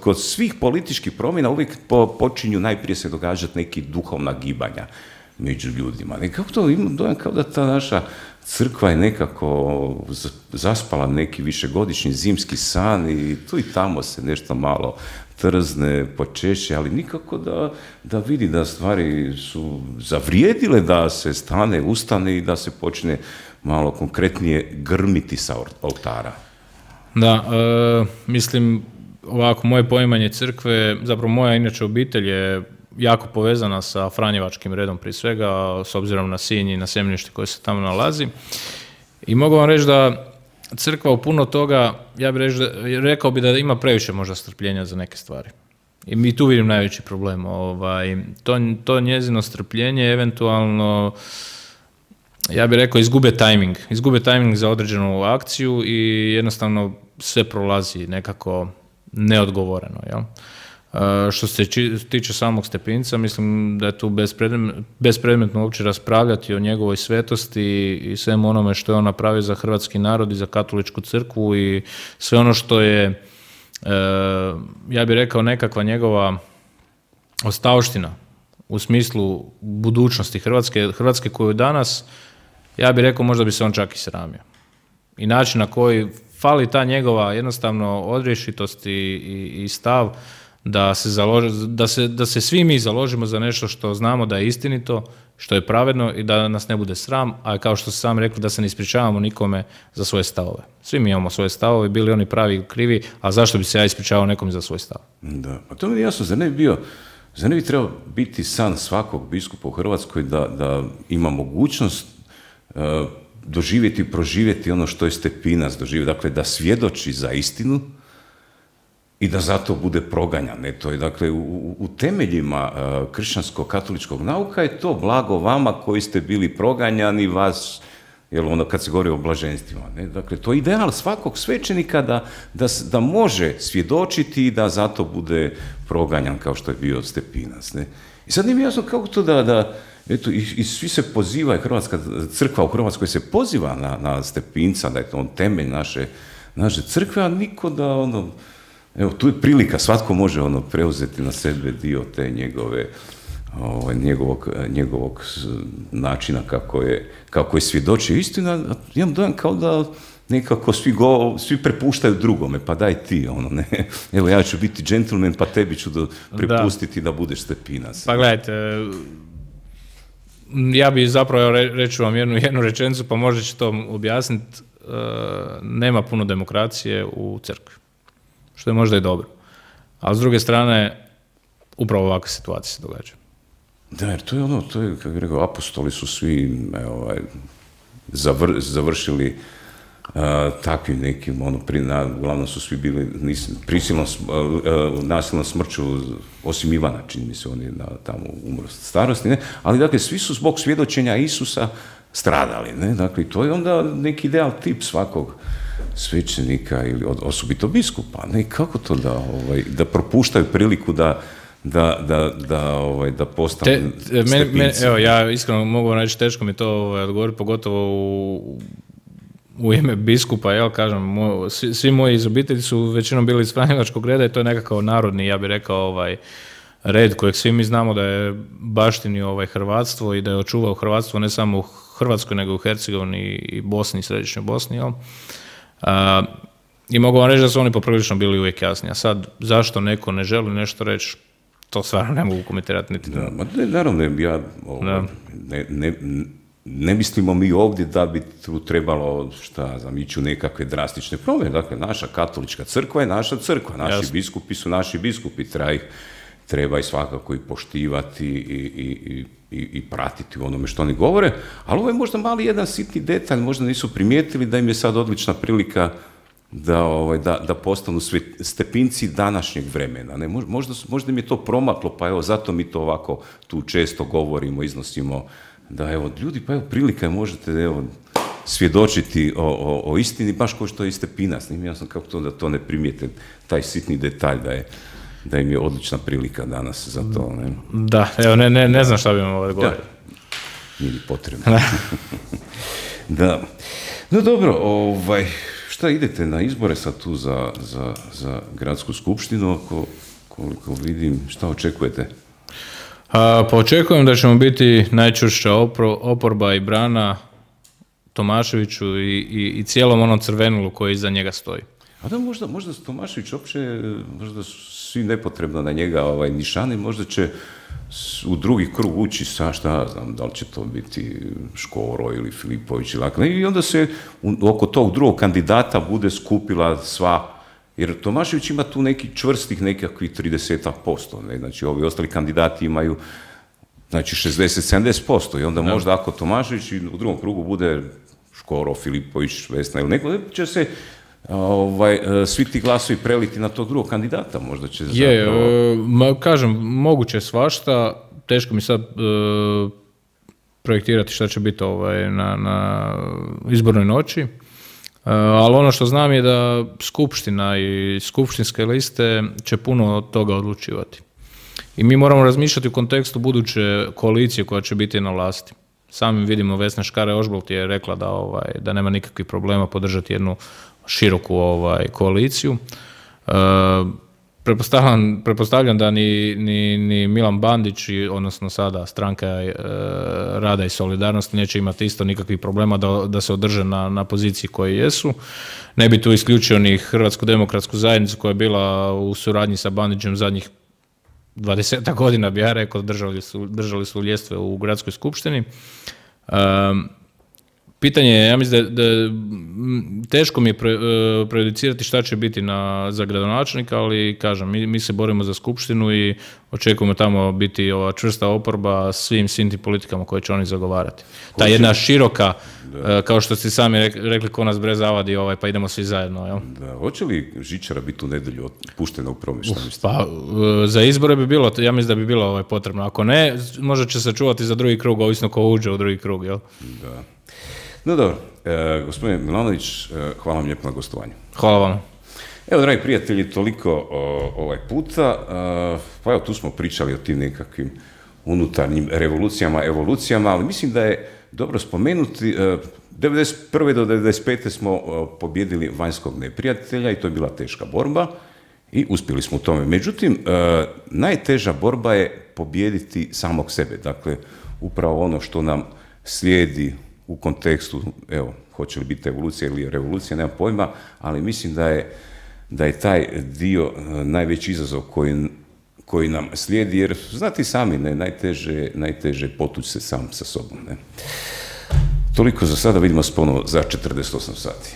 kod svih političkih promjena uvijek počinju najprije se događati neki duhovna gibanja među ljudima. I kako to imam dojam kao da ta naša crkva je nekako zaspala neki višegodišnji zimski san i tu i tamo se nešto malo trzne, počeše, ali nikako da vidi da stvari su zavrijedile, da se ustane i da se počne malo konkretnije grmiti sa oltara.
Da, mislim, ovako, moje poimanje crkve, zapravo moja inače obitelj je jako povezana sa Franjevačkim redom prije svega, s obzirom na Sinj i na Sjemenište koje se tamo nalazi. I mogu vam reći da crkva u puno toga, ja bih rekao bi da ima previše možda strpljenja za neke stvari. I mi tu vidim najveći problem. To njezino strpljenje eventualno, ja bih rekao, izgube tajming za određenu akciju i jednostavno sve prolazi nekako neodgovoreno. Jel? Što se tiče samog Stepinca, mislim da je tu bespredmetno uopće raspravljati o njegovoj svetosti i svemu onome što je on napravio za hrvatski narod i za katoličku crkvu i sve ono što je, ja bih rekao, nekakva njegova ostavština u smislu budućnosti Hrvatske koju danas, ja bih rekao, možda bi se on čak i sramio. I način na koji fali ta njegova jednostavno odrješitost i stav da se svi mi založimo za nešto što znamo da je istinito, što je pravedno i da nas ne bude sram, a kao što ste sam rekli, da se ne ispričavamo nikome za svoje stavove. Svi mi imamo svoje stavove, bili oni pravi ili krivi, a zašto bi se ja ispričavao nekom za svoj stav? Da,
pa to mi je jasno, zar ne bi trebao biti san svakog biskupa u Hrvatskoj da ima mogućnost doživjeti i proživjeti ono što je Stepinac doživio, dakle da svjedoči za istinu i da zato bude proganjan. To je, dakle, u temeljima kršćansko-katoličkog nauka je to blago vama koji ste bili proganjani, vas, jer ono kad se govori o blaženstvima. Ne? Dakle, to je ideal svakog svećenika da može svjedočiti i da zato bude proganjan kao što je bio Stepinac. Ne? I sad nije mi jasno kako to eto, i svi se pozivaju, Hrvatska crkva u Hrvatskoj se poziva na Stepinca, da je to on temelj naše crkve, a niko da evo, tu je prilika, svatko može preuzeti na sebe dio te njegovog načina kako je svjedočio istina. Imam dojam kao da nekako svi prepuštaju drugome, pa daj ti, ne. Evo, ja ću biti džentlmen, pa tebi ću prepustiti da budeš Stepinac.
Pa gledajte, ja bi zapravo, reću vam jednu rečenicu, pa možda će to objasniti, nema puno demokracije u crkvi, što je možda i dobro. A s druge strane, upravo ovakve situacije se događaju.
Da, jer to je, kako bih rekao, apostoli su svi završili takvim nekim, uglavnom su svi bili prisilno, nasilnom smrću, osim Ivana, čini mi se, on je tamo umro starosti, ne? Ali dakle, svi su zbog svjedočenja Isusa stradali, ne? Dakle, to je onda neki ideal tip svakog svećenika ili osobito biskupa, ne? Kako to da propuštaju priliku da postanu stepinci?
Evo, ja iskreno mogu reći, teško mi to odgovoriti, pogotovo u ime biskupa, jel, kažem, svi moji iz obitelji su većinom bili iz franjevačkog reda i to je nekakav narodni, ja bih rekao, red kojeg svi mi znamo da je baštini hrvatstvo i da je očuvao hrvatstvo ne samo u Hrvatskoj, nego u Hercegovini i Bosni i Središnjoj Bosni, jel? I mogu vam reći da su oni poprilično bili uvijek jasni. A sad, zašto neko ne želi nešto reći, to stvarno ne mogu komentirati niti.
Da, naravno, ja ne mislimo mi ovdje da bi tu trebalo, ići u nekakve drastične promjene. Dakle, naša katolička crkva je naša crkva, naši biskupi su naši biskupi, treba ih svakako i poštivati i pratiti u onome što oni govore, ali ovo je možda mali jedan sitni detalj, možda nisu primijetili da im je sad odlična prilika da postanu stepinci današnjeg vremena. Ne? Možda im je to promaklo, pa evo, zato mi to ovako tu često govorimo, iznosimo, da evo, ljudi, pa evo, prilika je, možete, evo, svjedočiti o istini, baš kao što je Stepinac. Nije mi jasno kako to da to ne primijete, taj sitni detalj da im je odlična prilika danas za to. Ne?
Da, evo, ne znam šta bi vam ovo govorio.
Nije potrebno. Da. No dobro, šta idete na izbore sad tu za gradsku skupštinu, koliko vidim, šta očekujete?
Pa očekujem da ćemo biti najčvršća oporba i brana Tomaševiću i cijelom onom crvenulu koji iza njega stoji.
A da, možda Tomašević uopće, možda su svi nepotrebno na njega nišani, možda će u drugi krug ući sa, šta znam, da li će to biti Škoro ili Filipović i onda se oko tog drugog kandidata bude skupila sva, jer Tomašević ima tu neki čvrstih nekakvih 30%, ne? Znači ovi ostali kandidati imaju 60-70% i onda možda ako Tomašević u drugom krugu bude Škoro, Filipović, Vesna ili neko, će se svi ti glasovi preliti na tog drugog kandidata, možda će zapravo...
Kažem, moguće svašta, teško mi sad projektirati šta će biti na izbornoj noći, ali ono što znam je da skupština i skupštinske liste će puno od toga odlučivati. I mi moramo razmišljati u kontekstu buduće koalicije koja će biti na vlasti. Sami vidimo, Vesna Škare-Ožbolt je rekla da nema nikakvih problema podržati jednu široku koaliciju. Pretpostavljam da ni Milan Bandić, odnosno sada Stranka rada i solidarnosti, neće imati isto nikakvih problema da se održe na poziciji koji jesu. Ne bi tu isključio ni Hrvatsku demokratsku zajednicu koja je bila u suradnji sa Bandićem zadnjih 20 godina, bi ja rekao, držali su ljestve u gradskoj skupštini. Pitanje je, ja mislim da teško mi je prejudicirati šta će biti za gradonačelnika, ali kažem, mi se borimo za skupštinu i očekujemo tamo biti ova čvrsta oporba svim tim politikama koje će oni zagovarati. Ta jedna široka, kao što ste sami rekli, ko nas bre zavadi, pa idemo svi zajedno. Jel?
Da, hoće li žičara biti u nedjelju puštena u promet?
Pa, za izbore bi bilo, ja mislim da bi bilo potrebno. Ako ne, možda će se čuvati za drugi krug, ovisno ko uđe u drugi krug. Jel?
Da. No dobro, gospodine Milanović, hvala vam lijepo na gostovanju.
Hvala vam.
Evo, dragi prijatelji, toliko ovaj puta. Pa evo, tu smo pričali o tim nekakvim unutarnjim revolucijama, evolucijama, ali mislim da je dobro spomenuti, 1991. do 1995. smo pobjedili vanjskog neprijatelja i to je bila teška borba i uspjeli smo u tome. Međutim, najteža borba je pobijediti samog sebe. Dakle, upravo ono što nam slijedi u kontekstu, evo, hoće li biti evolucija ili revolucija, nemam pojma, ali mislim da je taj dio najveći izazov koji nam slijedi, jer znate i sami, ne, najteže je potući se sam sa sobom. Ne. Toliko za sada, vidimo se ponovo za 48 sati.